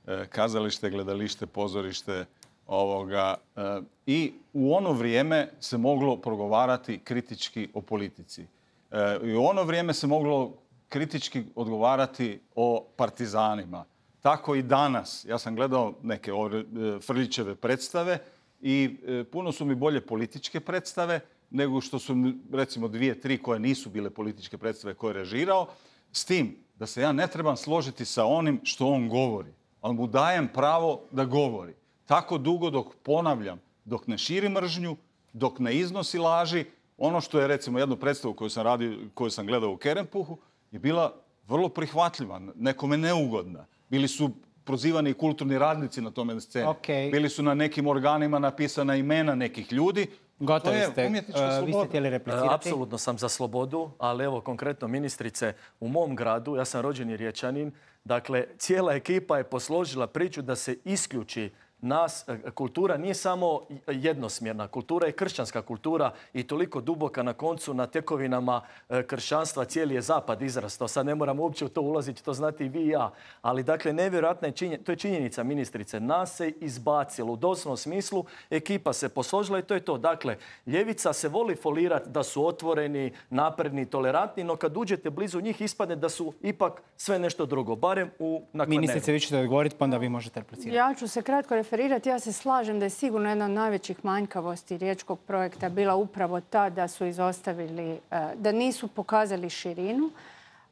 E, kazalište, gledalište, pozorište, ovoga. E, I u ono vrijeme se moglo progovarati kritički o politici. E, I u ono vrijeme se moglo kritički odgovarati o partizanima. Tako i danas. Ja sam gledao neke ove, Frljićeve predstave i e, puno su mi bolje političke predstave nego što su, recimo, dvije, tri koje nisu bile političke predstave koje je režirao. S tim da se ja ne trebam složiti sa onim što on govori. Ali mu dajem pravo da govori. Tako dugo dok, ponavljam, dok ne širi mržnju, dok ne iznosi laži. Ono što je, recimo, jednu predstavu koju sam, radio, koju sam gledao u Kerempuhu je bila vrlo prihvatljiva, nekome neugodna. Bili su prozivani i kulturni radnici na tome sceni. Okay. Bili su na nekim organima napisana imena nekih ljudi. Gotovi to je ste. umjetnička Uh, sloboda. Vi ste htjeli replicirati? Apsolutno sam za slobodu, ali evo konkretno ministrice, u mom gradu, ja sam rođeni Riječanin, dakle cijela ekipa je posložila priču da se isključi nas. Kultura nije samo jednosmjerna, kultura je kršćanska kultura i toliko duboka na koncu na tekovinama kršćanstva cijeli je zapad izrastao. Sad ne moramo uopće u to ulaziti, to znate i vi i ja. Ali dakle, nevjerojatna je činjenica, to je činjenica ministrice, nas se izbacilo u doslovnom smislu, ekipa se posložila i to je to. Dakle, ljevica se voli folirati da su otvoreni, napredni, tolerantni, no kad uđete blizu njih ispadne da su ipak sve nešto drugo, barem u nakon. Ministrice, vi ćete odgovoriti, pa onda vi možete replicirati. Ja ću se kratko referirati. Ja se slažem da je sigurno jedna od najvećih manjkavosti riječkog projekta bila upravo ta da su izostavili, da nisu pokazali širinu.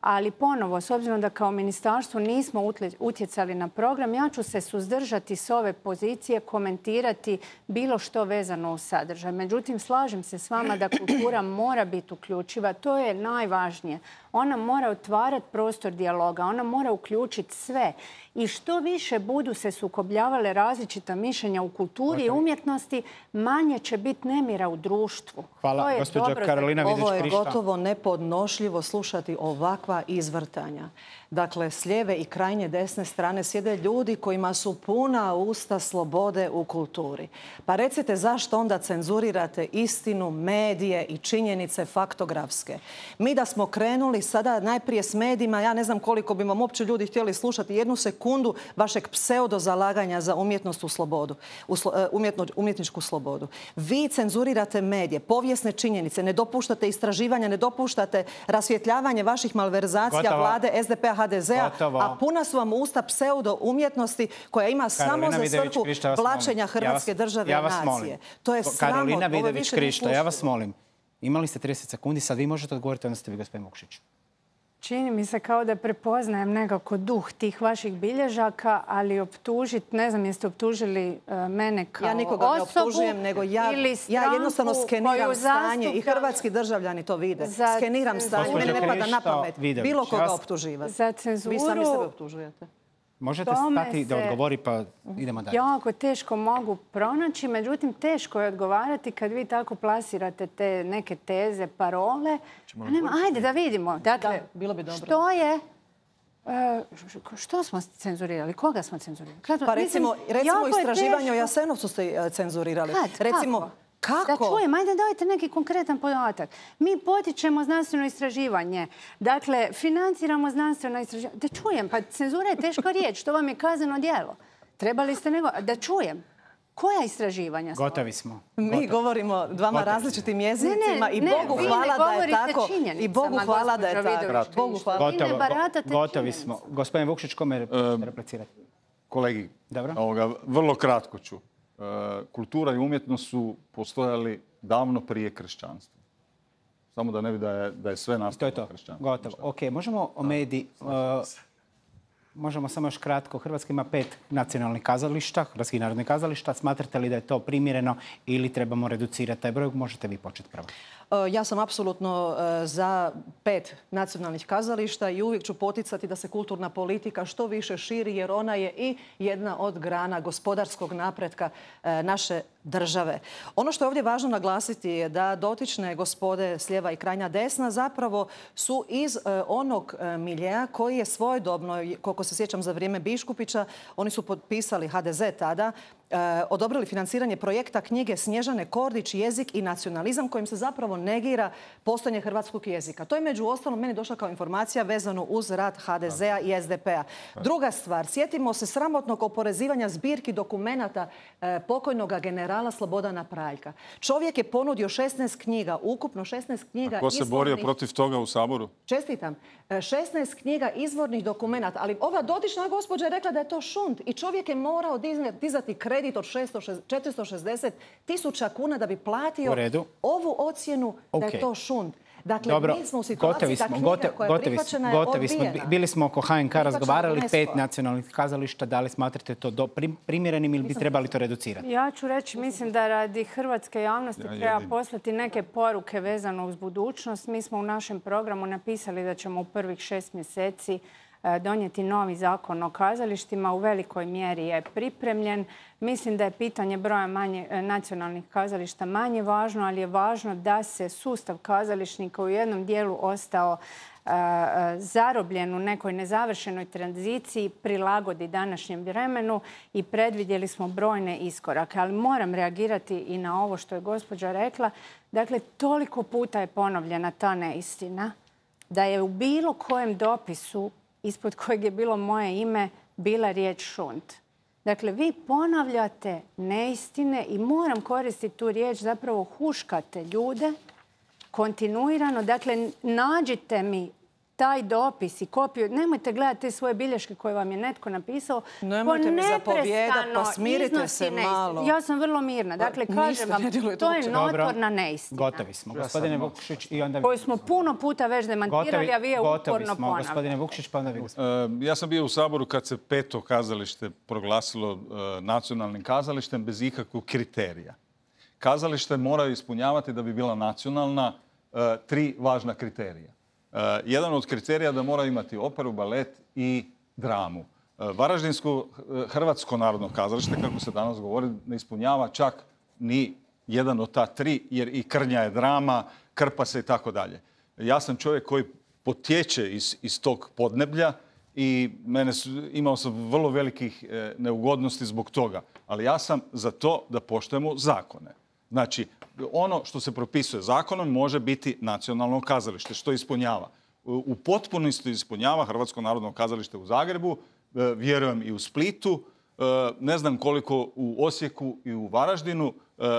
Ali ponovo, s obzirom da kao ministarstvo nismo utjecali na program, ja ću se suzdržati s ove pozicije, komentirati bilo što vezano uz sadržaj. Međutim, slažem se s vama da kultura mora biti uključiva. To je najvažnije. Ona mora otvarati prostor dijaloga, ona mora uključiti sve. I što više budu se sukobljavale različita mišljenja u kulturi i umjetnosti, manje će biti nemira u društvu. Hvala, gospođa Karolina Vidović Krišto. Ovo je gotovo nepodnošljivo slušati ovakva izvrtanja. Dakle, s lijeve i krajnje desne strane sjede ljudi kojima su puna usta slobode u kulturi. Pa recite zašto onda cenzurirate istinu, medije i činjenice faktografske. Mi da smo krenuli sada najprije s medijima, ja ne znam koliko bi vam uopće ljudi htjeli slušati jednu sekundu vašeg pseudo zalaganja za umjetnost u slobodu, u slo, umjetno, umjetničku slobodu. Vi cenzurirate medije, povijesne činjenice, ne dopuštate istraživanja, ne dopuštate rasvjetljavanje vaših malverzacija Gotovo. vlade S D P-a, H D Z-a, Gotovo. a puna su vam usta pseudo umjetnosti koja ima Karolina samo za svrhu Vidović-Krišto, blaćenja Hrvatske države ja i vas nacije. molim. To je sramotno. Karolina Ovo više nije Vidović-Krišto, ja vas slušljivo. molim. Imali ste trideset sekundi, sad vi možete odgovoriti, onda ste vi, gospodin Vukšić. Čini mi se kao da prepoznajem nekako duh tih vaših bilježaka, ali optužiti, ne znam jeste optužili uh, mene kao osobu. Ja nikoga ne optužujem, nego ja, ja jednostavno skeniram stanje i hrvatski državljani to vide. Skeniram stanje, mene ne pada na pamet bilo koga optuživati. Za cenzuru... Vi sami sebe optužujete. Možete stati da odgovori, pa idemo dalje. Jako teško mogu pronaći, međutim teško je odgovarati kad vi tako plasirate te neke teze, parole. Nema, ajde da vidimo. Dakle, da, bilo bi dobro. Što je... Što smo cenzurirali? Koga smo cenzurirali? Kad, pa recimo, mislim, recimo istraživanje o Jasenovcu ste cenzurirali. Kad? Recimo, Kako? Kako? Da čujem, ajde dajte neki konkretan podatak. Mi potičemo znanstveno istraživanje. Dakle, financiramo znanstveno istraživanje. Da čujem, pa cenzura je teška riječ. To vam je kazneno djelo. Trebali ste nego... Da čujem. Koja istraživanja smo? Gotovi smo. Mi Gotovi. govorimo dvama Gotovi. različitim jezicima ne, i ne, Bogu hvala da je tako. I Bogu hvala da je tako. Bogu hvala. Vi ne baratate Gotovi smo. Gospodin Vukšić, kome replicirati? Kolegi, Dobro. ovoga, vrlo kratko ću. kultura i umjetnost su postojali davno prije kršćanstva. Samo da ne bi da je, da je sve nastalo to je to. kršćanstvo. Gotovo. Ok, možemo o mediji... Možemo samo još kratko. Hrvatska ima pet nacionalnih kazališta, Hrvatskih narodnih kazališta. Smatrate li da je to primjereno ili trebamo reducirati taj broj? Možete vi početi prvo. Ja sam apsolutno za pet nacionalnih kazališta i uvijek ću poticati da se kulturna politika što više širi jer ona je i jedna od grana gospodarskog napretka naše države. Ono što je ovdje važno naglasiti je da dotične gospode s lijeva i krajnja desna zapravo su iz onog miljeja koji je svojedobno, koliko se sjećam za vrijeme Biškupića, oni su potpisali, ha de ze tada, odobrili financiranje projekta knjige Snježane Kordić, jezik i nacionalizam, kojim se zapravo negira postojanje hrvatskog jezika. To je među ostalom meni došla kao informacija vezano uz rad ha de zea i es de pe-a. Druga stvar, sjetimo se sramotnog oporezivanja zbirki dokumenata pokojnog generala Slobodana Praljka. Čovjek je ponudio šesnaest knjiga, ukupno šesnaest knjiga. A ko se borio protiv toga u Saboru? Čestitam. šesnaest knjiga izvornih dokumenata, ali ova dotična gospođa je rekla da je to šund i čovjek je morao dizati kredit od četiristo šezdeset tisuća kuna da bi platio ovu ocjenu da je to šund. Dakle, dobro, mi smo u situaciji da knjiga koja je prihvaćena je odbijena. Bili smo oko ha en ka razgovarali, pet nacionalnih kazališta. Da li smatrate to do, primjerenim ili bi trebali to reducirati? Ja ću reći, mislim da radi hrvatske javnosti ja, treba poslati neke poruke vezano uz budućnost. Mi smo u našem programu napisali da ćemo u prvih šest mjeseci donijeti novi zakon o kazalištima. U velikoj mjeri je pripremljen. Mislim da je pitanje broja manje, nacionalnih kazališta manje važno, ali je važno da se sustav kazališnika u jednom dijelu ostao uh, zarobljen u nekoj nezavršenoj tranziciji, prilagodi današnjem vremenu i predvidjeli smo brojne iskorake. Ali moram reagirati i na ovo što je gospođa rekla. Dakle, toliko puta je ponovljena ta neistina da je u bilo kojem dopisu ispod kojeg je bilo moje ime, bila riječ šund. Dakle, vi ponavljate neistine i moram koristiti tu riječ, zapravo huškate ljude kontinuirano. Dakle, nađite mi taj dopis i kopiju. Nemojte gledati te svoje bilješke koje vam je netko napisao. Nemojte mi zapovijedati, pa smirite se malo. Ja sam vrlo mirna. Dakle, kažem vam, to je notorna neistina. Gotovi smo. Gospodine Vukšić i onda... Koju smo puno puta već demantirali, a vi je uporno ponavljate. Gospodine Vukšić, pa onda vi... Ja sam bio u Saboru kad se peto kazalište proglasilo nacionalnim kazalištem bez ikakvog kriterija. Kazalište moraju ispunjavati da bi bila nacionalna tri važna kriterija. Uh, jedan od kriterija da mora imati operu, balet i dramu. Uh, Varaždinsko uh, Hrvatsko narodno kazalište, kako se danas govori, ne ispunjava čak ni jedan od ta tri, jer i Krnja je drama, Krpa se i tako dalje. Ja sam čovjek koji potječe iz, iz tog podneblja i mene su, imao sam vrlo velikih e, neugodnosti zbog toga. Ali ja sam za to da poštujemo zakone. Znači, ono što se propisuje zakonom može biti nacionalno kazalište, što ispunjava. U potpunosti ispunjava Hrvatsko narodno kazalište u Zagrebu, vjerujem i u Splitu, ne znam koliko u Osijeku i u Varaždinu,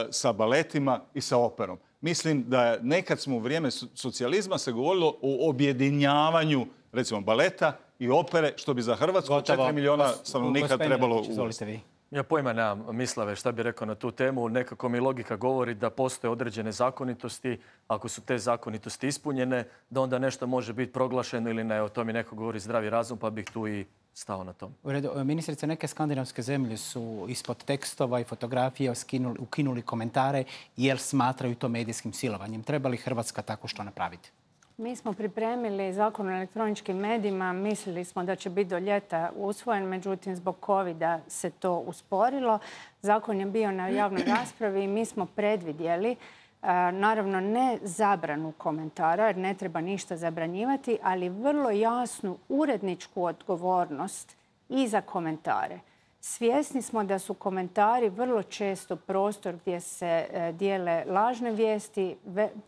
sa baletima i sa operom. Mislim da je nekad smo u vrijeme socijalizma se govorilo o objedinjavanju, recimo, baleta i opere, što bi za Hrvatsku četiri milijuna stanovnika trebalo uvesti. Ja pojma nemam, Mislave, šta bi rekao na tu temu. Nekako mi logika govori da postoje određene zakonitosti. Ako su te zakonitosti ispunjene, da onda nešto može biti proglašeno ili ne. O tome neko govori zdravi razum, pa bih tu i stao na tom. U redu, ministrice, neke skandinavske zemlje su ispod tekstova i fotografije ukinuli komentare jer smatraju to medijskim silovanjem. Treba li Hrvatska tako što napraviti? Mi smo pripremili zakon o elektroničkim medijima. Mislili smo da će biti do ljeta usvojen, međutim zbog kovida se to usporilo. Zakon je bio na javnoj raspravi i mi smo predvidjeli, naravno ne zabranu komentara, jer ne treba ništa zabranjivati, ali vrlo jasnu uredničku odgovornost i za komentare. Svjesni smo da su komentari vrlo često prostor gdje se dijele lažne vijesti,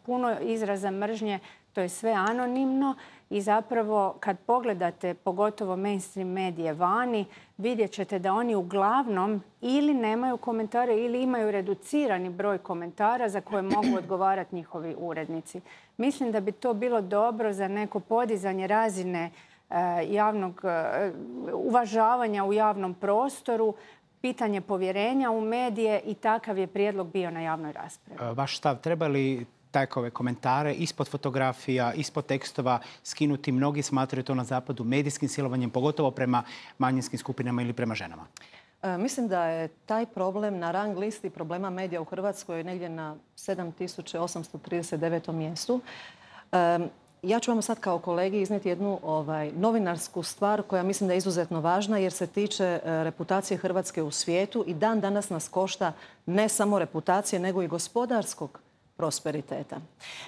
puno izraza mržnje. To je sve anonimno i zapravo kad pogledate pogotovo mainstream medije vani, vidjet ćete da oni uglavnom ili nemaju komentare ili imaju reducirani broj komentara za koje mogu odgovarati njihovi urednici. Mislim da bi to bilo dobro za neko podizanje razine javnog uvažavanja u javnom prostoru. pitanje povjerenja u medije i takav je prijedlog bio na javnoj raspravi. Vaš stav, treba li takove komentare ispod fotografija, ispod tekstova skinuti? Mnogi smatraju to na zapadu medijskim silovanjem, pogotovo prema manjinskim skupinama ili prema ženama. Mislim da je taj problem na rang listi problema medija u Hrvatskoj negdje na sedam tisuća osamsto trideset devetom mjestu. Ja ću vam sad kao kolegi iznijeti jednu ovaj, novinarsku stvar koja mislim da je izuzetno važna jer se tiče reputacije Hrvatske u svijetu i dan danas nas košta ne samo reputacije nego i gospodarskog prosperiteta.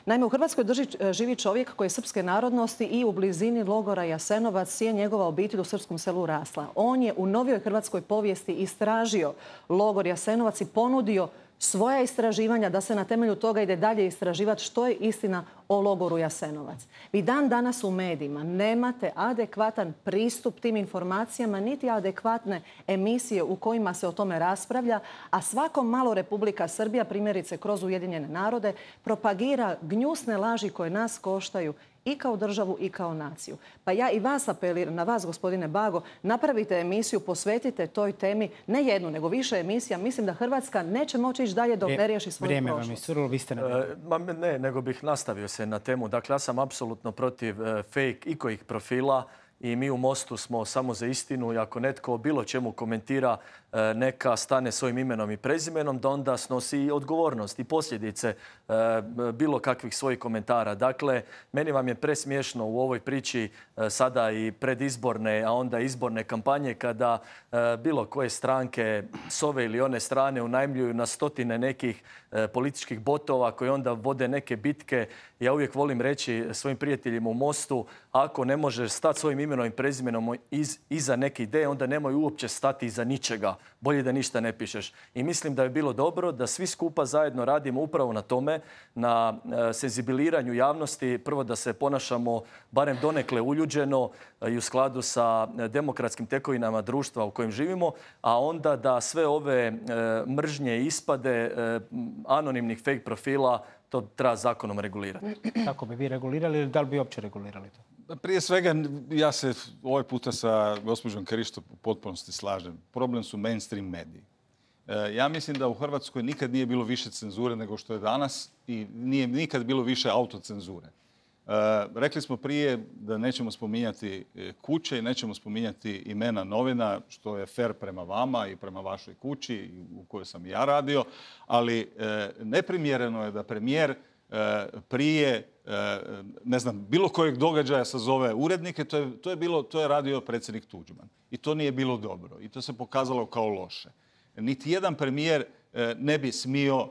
Naime, u Hrvatskoj drži, živi čovjek koji je srpske narodnosti i u blizini logora Jasenovac je njegova obitelj u srpskom selu rasla. On je u novijoj hrvatskoj povijesti istražio logor Jasenovac i ponudio svoja istraživanja da se na temelju toga ide dalje istraživati što je istina o logoru Jasenovac. Vi dan danas u medijima nemate adekvatan pristup tim informacijama, niti adekvatne emisije u kojima se o tome raspravlja, a svako malo Republika Srbija, primjerice kroz Ujedinjene narode, propagira gnjusne laži koje nas koštaju i kao državu i kao naciju. Pa ja i vas apeliram, na vas, gospodine Bago, napravite emisiju, posvetite toj temi, ne jednu, nego više emisija. Mislim da Hrvatska neće moći ići dalje dok ne riješi svoju Vrijeme prošlost. vam je iscurilo, vi ste na... E, ne, nego bih nastavio se na temu. Dakle, ja sam apsolutno protiv e, fake ikojih profila i mi u Mostu smo samo za istinu i ako netko o bilo čemu komentira e, neka stane svojim imenom i prezimenom, da onda snosi i odgovornost i posljedice e, bilo kakvih svojih komentara. Dakle, meni vam je presmiješno u ovoj priči e, sada i predizborne, a onda izborne kampanje kada e, bilo koje stranke s ove ili one strane unajmljuju na stotine nekih e, političkih botova koji onda vode neke bitke. Ja uvijek volim reći svojim prijateljima u Mostu, ako ne možeš stati svojim imenom i prezimenom iz, iza neke ideje, onda nemoj uopće stati iza ničega. Bolje da ništa ne pišeš. I mislim da je bilo dobro da svi skupa zajedno radimo upravo na tome, na e, senzibiliranju javnosti. Prvo da se ponašamo barem donekle uljuđeno e, i u skladu sa demokratskim tekovinama društva u kojem živimo, a onda da sve ove e, mržnje i ispade e, anonimnih fake profila to treba zakonom regulirati. Kako bi vi regulirali ili da li bi uopće regulirali to? Prije svega, ja se ovaj puta sa gospođom Krišto u potpunosti slažem. Problem su mainstream mediji. Ja mislim da u Hrvatskoj nikad nije bilo više cenzure nego što je danas i nije nikad bilo više autocenzure. Rekli smo prije da nećemo spominjati kuće i nećemo spominjati imena novina, što je fair prema vama i prema vašoj kući u kojoj sam i ja radio, ali neprimjereno je da premijer prije, ne znam, bilo kojeg događaja sazove urednike, to je, to je, bilo, to je radio predsjednik Tuđman. I to nije bilo dobro. I to se pokazalo kao loše. Niti jedan premijer ne bi smio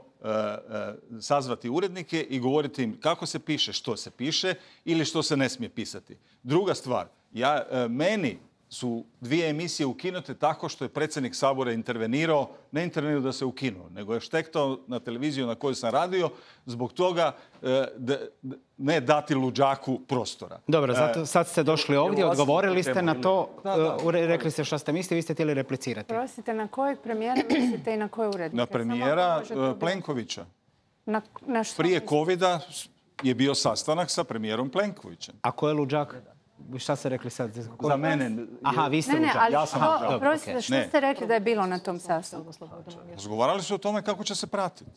sazvati urednike i govoriti im kako se piše, što se piše ili što se ne smije pisati. Druga stvar, ja, meni su dvije emisije ukinute tako što je predsjednik Sabora intervenirao, ne intervenirao da se ukinuo, nego je štektao na televiziju na kojoj sam radio zbog toga da, ne dati luđaku prostora. Dobro, zato sad ste došli ovdje, odgovorili ste na to, da, da, rekli ste što ste mislili, vi ste htjeli replicirati. Prosite, na kojeg premijera mislite i na koje urednike? Na premijera Plenkovića. Na, na što Prije covida je bio sastanak sa premijerom Plenkovićem. A ko je luđak? Šta ste rekli sad? Za mene... Aha, vi ste ne, ne, luđak. ali ja sam što, prostite, što ne. ste rekli da je bilo na tom sastanku? Razgovarali su o tome kako će se pratiti.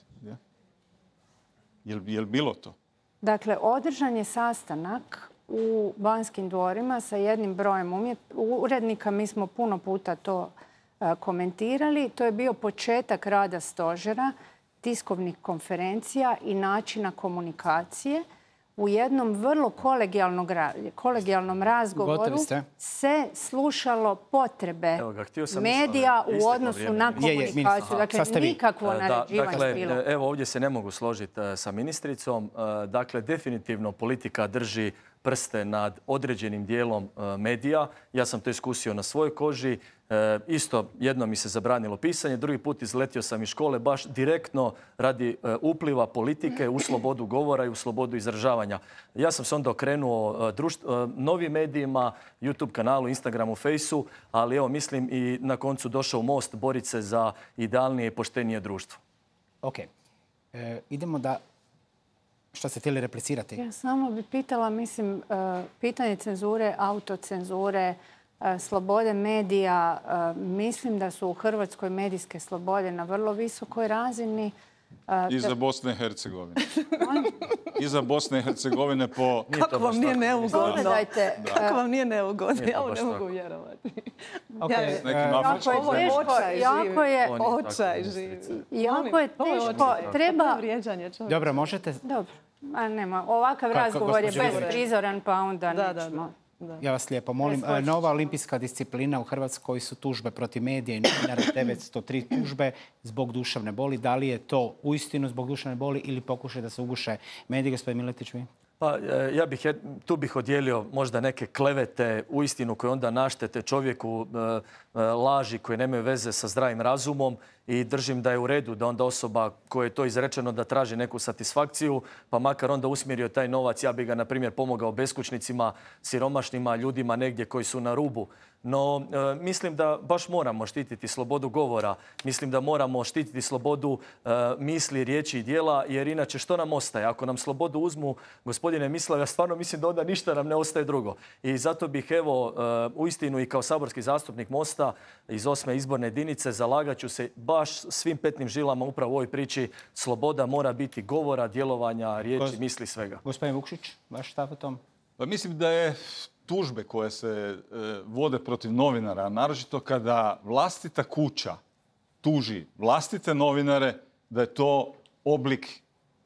Je li bilo to? Dakle, održan je sastanak u Banskim dvorima sa jednim brojem umjet... urednika. Mi smo puno puta to uh, komentirali. To je bio početak rada stožera, tiskovnih konferencija i načina komunikacije. U jednom vrlo kolegijalnom razgovoru se slušalo potrebe ga, medija u odnosu na komunikaciju. Dakle, nikakvo naređivanje dakle, bilo. Evo, ovdje se ne mogu složiti sa ministricom. Dakle, definitivno politika drži prste nad određenim dijelom medija. Ja sam to iskusio na svojoj koži. E, isto jedno mi se zabranilo pisanje, drugi put izletio sam iz škole baš direktno radi e, upliva politike u slobodu govora i u slobodu izražavanja. Ja sam se onda okrenuo e, društv, e, novim medijima, YouTube kanalu, Instagramu, Fejsu, ali evo mislim i na koncu došao u Most boriti se za idealnije i poštenije društvo. Ok. E, idemo da... Što ste htjeli replicirati? Ja samo bih pitala, mislim, pitanje cenzure, autocenzure, slobode medija, mislim da su u Hrvatskoj medijske slobode na vrlo visokoj razini. I za Bosne i Hercegovine. I za Bosne i Hercegovine po... Kako vam nije neugodno? Kako vam nije neugodno? Ja ovo ne mogu vjerovati. Ovo je očaj živi. Jako je teško. Treba... Dobro, možete... Dobro. Nema. Ovakav razgovor je besprizoran, pa onda nećemo. Ja vas lijepo molim. Nova olimpijska disciplina u Hrvatskoj su tužbe protiv medija i novinara, devetsto tri tužbe zbog duševne boli. Da li je to uistinu zbog duševne boli ili pokušaj da se uguše mediji, gospodin Miletić? Pa, ja bih, tu bih odijelio možda neke klevete uistinu koje onda naštete čovjeku, laži koje nemaju veze sa zdravim razumom i držim da je u redu da onda osoba koja je to izrečeno da traži neku satisfakciju, pa makar onda usmjerio taj novac, ja bi ga, na primjer, pomogao beskućnicima, siromašnima, ljudima negdje koji su na rubu. No, e, mislim da baš moramo štititi slobodu govora. Mislim da moramo štititi slobodu e, misli, riječi i djela, jer inače što nam ostaje? Ako nam slobodu uzmu, gospodine Mislav, ja stvarno mislim da onda ništa nam ne ostaje drugo. I zato bih, evo, e, uistinu i kao saborski zastupnik Mosta iz osme izborne jedinice zalagat ću se baš svim petnim žilama upravo u ovoj priči. Sloboda mora biti govora, djelovanja, riječi, misli, svega. Gospodin Vukšić, vaš stav o tom? Pa mislim da je tužbe koje se e, vode protiv novinara, naročito kada vlastita kuća tuži vlastite novinare, da je to oblik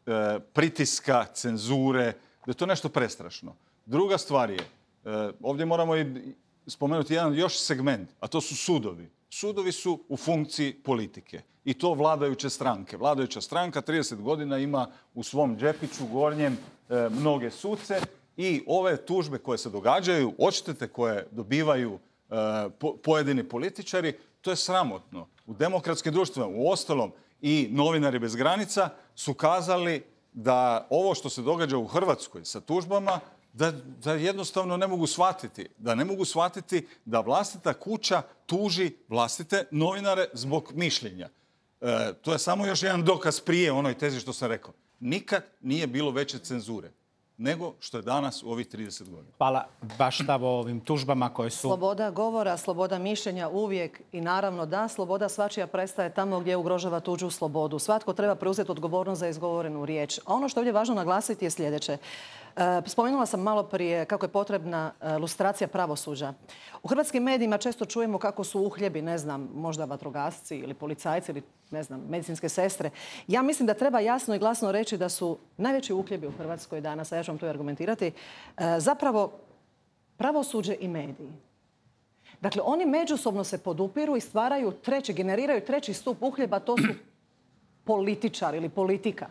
e, pritiska, cenzure, da je to nešto prestrašno. Druga stvar je, e, ovdje moramo i spomenuti jedan još segment, a to su sudovi. Sudovi su u funkciji politike i to vladajuće stranke. Vladajuća stranka trideset godina ima u svom džepiću gornjem e, mnoge suce i ove tužbe koje se događaju, odštete koje dobivaju e, po, pojedini političari, to je sramotno. U demokratskim društvima, u ostalom i Novinari bez granica su kazali da ovo što se događa u Hrvatskoj sa tužbama, Da, da jednostavno ne mogu shvatiti. Da ne mogu shvatiti da vlastita kuća tuži vlastite novinare zbog mišljenja. E, to je samo još jedan dokaz prije onoj tezi što sam rekao. Nikad nije bilo veće cenzure nego što je danas u ovih trideset godina. Hvala. Baš stav o ovim tužbama koje su... Sloboda govora, sloboda mišljenja uvijek i naravno da, sloboda svačija prestaje tamo gdje ugrožava tuđu slobodu. Svatko treba preuzeti odgovornost za izgovorenu riječ. A ono što je ovdje važno naglasiti je sljedeće. Spomenula sam malo prije kako je potrebna lustracija pravosuđa. U hrvatskim medijima često čujemo kako su uhljebi, ne znam, možda vatrogasci ili policajci ili, ne znam, medicinske sestre. Ja mislim da treba jasno i glasno reći da su najveći uhljebi u Hrvatskoj danas, a ja ću vam to argumentirati, zapravo pravosuđe i mediji. Dakle, oni međusobno se podupiru i stvaraju treći, generiraju treći stup uhljeba, to su političari ili politika.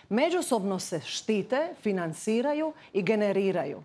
Međusobno se štite, financiraju i generiraju.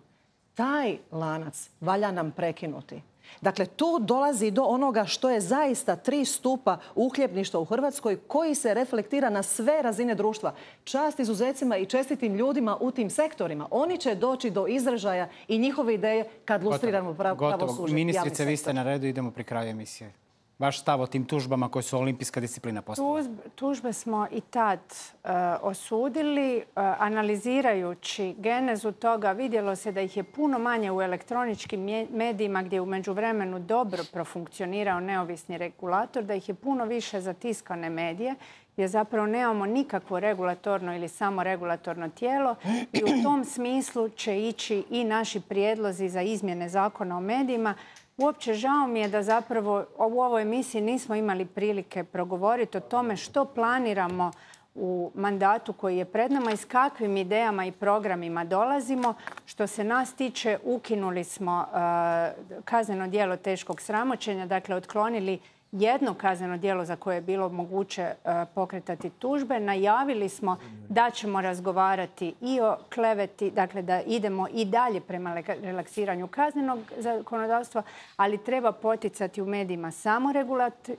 Taj lanac valja nam prekinuti. Dakle, tu dolazi do onoga što je zaista tri stupa uhljebništva u Hrvatskoj koji se reflektira na sve razine društva. Čast izuzecima i čestitim ljudima u tim sektorima. Oni će doći do izražaja i njihove ideje kad lustriramo pravosuđe. Gotovo. Ministrice, vi ste na redu, idemo pri kraju emisije. Vaš stav o tim tužbama koje su olimpijska disciplina postala? Tužbe smo i tad uh, osudili. Uh, analizirajući genezu toga, vidjelo se da ih je puno manje u elektroničkim medijima gdje je u međuvremenu dobro profunkcionirao neovisni regulator, da ih je puno više za tiskane medije, gdje zapravo nemamo nikakvo regulatorno ili samo regulatorno tijelo i u tom smislu će ići i naši prijedlozi za izmjene zakona o medijima. Uopće žao mi je da zapravo u ovoj emisiji nismo imali prilike progovoriti o tome što planiramo u mandatu koji je pred nama i s kakvim idejama i programima dolazimo. Što se nas tiče, ukinuli smo uh, kazneno djelo teškog sramoćenja, dakle otklonili jedno kazneno djelo za koje je bilo moguće uh, pokretati tužbe. Najavili smo da ćemo razgovarati i o kleveti, dakle da idemo i dalje prema relaksiranju kaznenog zakonodavstva, ali treba poticati u medijima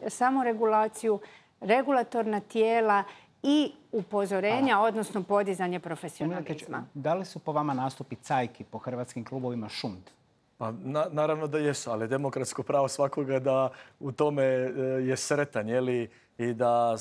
samoregulaciju, regulatorna tijela i upozorenja, Hvala. Odnosno podizanje profesionalizma. Da li su po vama nastupi cajki po hrvatskim klubovima šund? Pa, na, naravno da jesu, ali demokratsko pravo svakoga da u tome je sretan, jeli, i da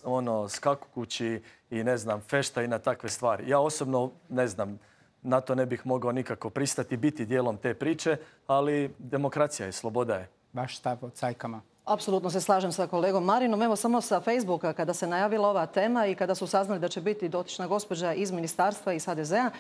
ono, skaku kući i ne znam, fešta i na takve stvari. Ja osobno, ne znam, na to ne bih mogao nikako pristati, biti dijelom te priče, ali demokracija je, sloboda je. Vaš stav o cajkama? Apsolutno se slažem sa kolegom Marinom. Evo samo sa Facebooka kada se najavila ova tema i kada su saznali da će biti dotična gospođa iz ministarstva iz ha de zea,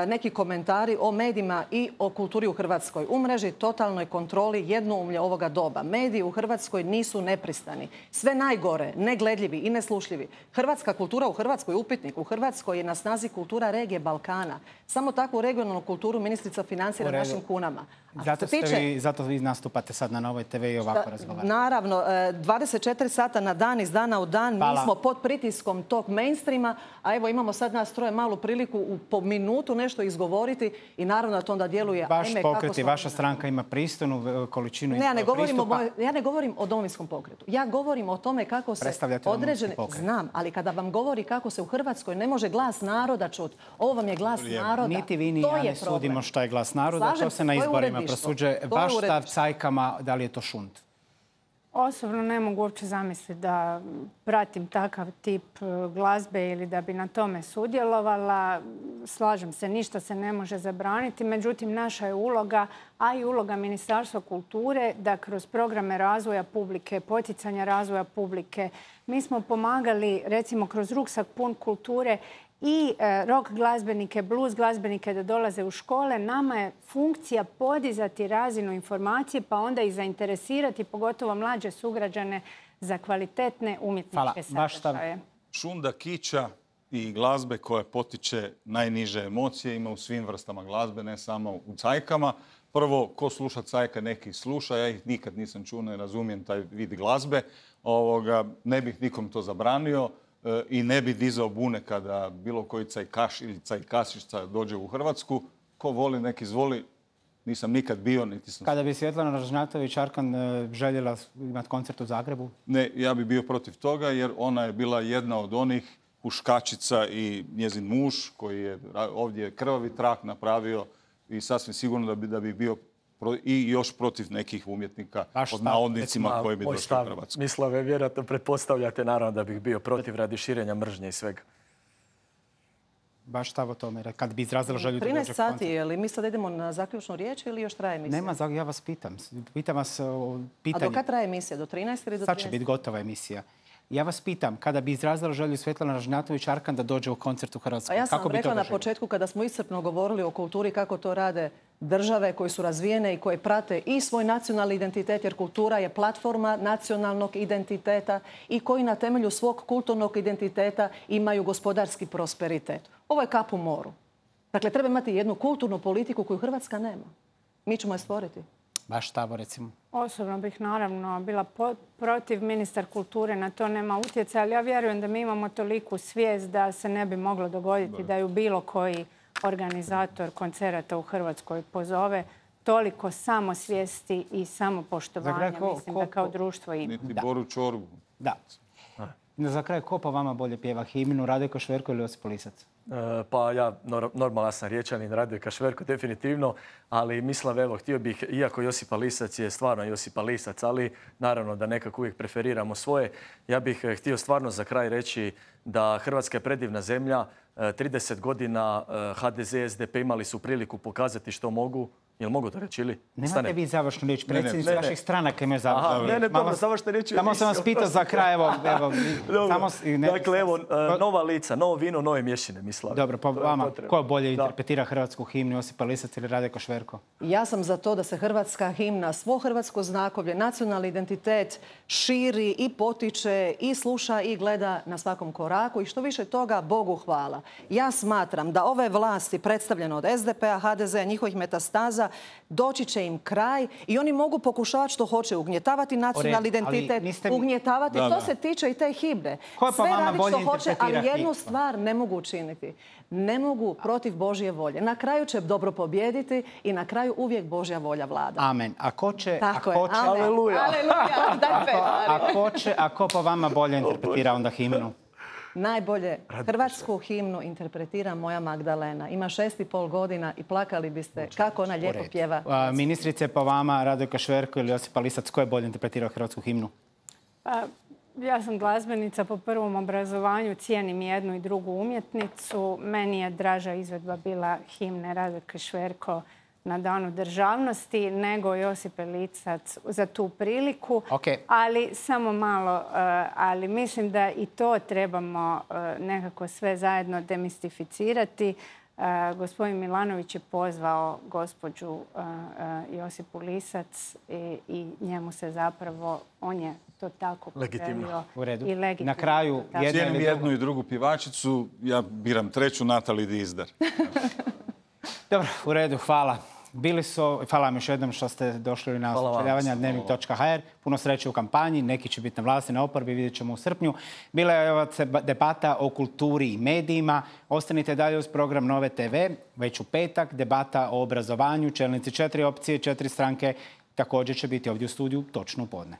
neki komentari o medijima i o kulturi u Hrvatskoj. U mreži totalnoj kontroli jednoumlje ovoga doba. Mediji u Hrvatskoj nisu nepristani. Sve najgore, negledljivi i neslušljivi. Hrvatska kultura u Hrvatskoj, upitnik u Hrvatskoj je na snazi kultura regije Balkana. Samo takvu regionalnu kulturu ministrica financira našim kunama. Zato, tiče... vi, zato vi nastupate sad na Novoj te ve i ovako razgovarate. Naravno, dvadeset četiri sata na dan, iz dana u dan. Hvala. Mi smo pod pritiskom tog mainstreama, a evo imamo sad nas troje malu priliku u, po minutu nešto izgovoriti i naravno da to onda djeluje. Vaš pokret i vaša stranka ima pristojnu količinu ne, ja ne govorim o, ja ne govorim o Domovinskom pokretu. Ja govorim o tome kako se određene... Znam, ali kada vam govori kako se u Hrvatskoj ne može glas naroda čuti, ovo vam je glas naroda. Niti vi ni ja ne sudimo što je glas naroda, to se na izborima prosuđuje. Vaš stav cajkama, da li je to šund? Osobno ne mogu uopće zamisliti da pratim takav tip glazbe ili da bi na tome sudjelovala. Slažem se, ništa se ne može zabraniti. Međutim, naša je uloga, a i uloga Ministarstva kulture, da kroz programe razvoja publike, poticanja razvoja publike, mi smo pomagali, recimo, kroz ruksak pun kulture i rock glazbenike, blues glazbenike da dolaze u škole. Nama je funkcija podizati razinu informacije pa onda i zainteresirati pogotovo mlađe sugrađane za kvalitetne umjetničke sadržaje. Šunda kiča i glazbe koja potiče najniže emocije ima u svim vrstama glazbe, ne samo u cajkama. Prvo, ko sluša cajka, neki sluša. Ja ih nikad nisam čuo, ne razumijem taj vid glazbe. Ovoga, ne bih nikom to zabranio. I ne bi dizao bune kada bilo koji cajkaš ili cajkasišca dođe u Hrvatsku. Ko voli, nek izvoli. Nisam nikad bio, niti sam... Kada bi Svjetlana Ražnjatović-Arkan željela imati koncert u Zagrebu? Ne, ja bi bio protiv toga jer ona je bila jedna od onih huškačica i njezin muž koji je ovdje krvavi trak napravio i sasvim sigurno da bi, da bi bio i još protiv nekih umjetnika pod navodnicima koji bi došli u Hrvatsku. Mislave, vjerojatno pretpostavljate naravno da bih bio protiv radi širenja mržnje i svega. Baš stav o tome, kad bi izrazila želju da dođe trinaest sati, je li mi sad idemo na zaključnu riječ ili još traje emisija? Nema, ja vas pitam. Pitam vas o pitanju. A do kad traje emisija? Do trinaest ili do trinaest? Sad će biti gotova emisija. Ja vas pitam, kada bi izrazila želju Svjetlana Ražnjatović-Arkan da dođe u koncert u Hrvatsku, ja sam kako bi rekla to na početku kada smo iscrpno govorili o kulturi kako to rade države koje su razvijene i koje prate i svoj nacionalni identitet, jer kultura je platforma nacionalnog identiteta i koji na temelju svog kulturnog identiteta imaju gospodarski prosperitet. Ovo je kap u moru. Dakle, treba imati jednu kulturnu politiku koju Hrvatska nema. Mi ćemo je stvoriti. Vaš stav, recimo? Osobno bih naravno bila protiv. Ministar kulture na to nema utjecaja, ali ja vjerujem da mi imamo toliku svijest da se ne bi moglo dogoditi da ju bilo koji organizator koncerata u Hrvatskoj pozove. Toliko samosvijesti i samopoštovanja, mislim da kao društvo ima. Niti Boru Čorbu. Da. Za kraj, ko po vama bolje pjeva himnu, Radojko Šverko ili Josip Lisac? Pa ja, normalan sam riječanin, Radojka Šverko definitivno, ali mislim, evo, htio bih, iako Josipa Lisac je stvarno Josipa Lisac, ali naravno da nekako uvijek preferiramo svoje, ja bih htio stvarno za kraj reći da Hrvatska je predivna zemlja, trideset godina ha de ze, es de pe imali su priliku pokazati što mogu. Jel mogu to reći ili? Nemate vi završnu riječ. Predsjednici vaših stranaka imaju završnu riječ. Ne, ne, dobro, završnu riječ. Samo sam vas pitao za kraj, evo. Dakle, evo, nova lica, novo vino, nove mješine, mislim. Dobro, po vama, ko bolje interpretira hrvatsku himnu, Josipa Lisac ili Radojko Šverko? Ja sam za to da se hrvatska himna, svo hrvatsko znakovlje, nacionalni identitet širi i potiče i sluša i gleda na svakom koraku i što više toga, Bogu hvala. Ja smatram da ove vlasti predstavljene od es de pe-a, ha de ze-a, njihovih metastaza, doći će im kraj i oni mogu pokušavati što hoće, ugnjetavati nacionalni identitet, ugnjetavati. To se tiče i te himne. Sve radi što hoće, ali jednu stvar ne mogu učiniti. Ne mogu protiv Božje volje. Na kraju će dobro pobijediti i na kraju uvijek Božja volja vlada. Amen. A ko će... Tako je. Aleluja. A ko će, a ko po vama bolje interpretira onda himnu? Najbolje hrvatsku himnu interpretira moja Magdalena. Ima šest i pol godina i plakali biste kako ona lijepo pjeva. Ministrice, po vama, Radojko Šverko ili Josipa Lisac, ko je bolje interpretirao hrvatsku himnu? Ja sam glazbenica po prvom obrazovanju, cijenim jednu i drugu umjetnicu. Meni je draža izvedba bila himne Radoke Šverko na Danu državnosti nego Josipe Lisac za tu priliku. Okay. Ali samo malo, ali mislim da i to trebamo nekako sve zajedno demistificirati. Gospodin Milanović je pozvao gospođu Josipu Lisac i njemu se zapravo, on je to tako legitimno. U redu. I legitimno. Na kraju cijenim jednu i drugu pjevačicu, ja biram treću, Natali Dizdar. Dobro, u redu, hvala. Bili su, hvala vam još jednom što ste došli na sučeljavanje dnevnik točka ha er. Puno sreće u kampanji, neki će biti na vlasti, na oporbi, vidjet ćemo u srpnju. Bila je ova debata o kulturi i medijima. Ostanite dalje uz program Nove te ve. Već u petak debata o obrazovanju, čelnici četiri opcije, četiri stranke. Također će biti ovdje u studiju točno u podne.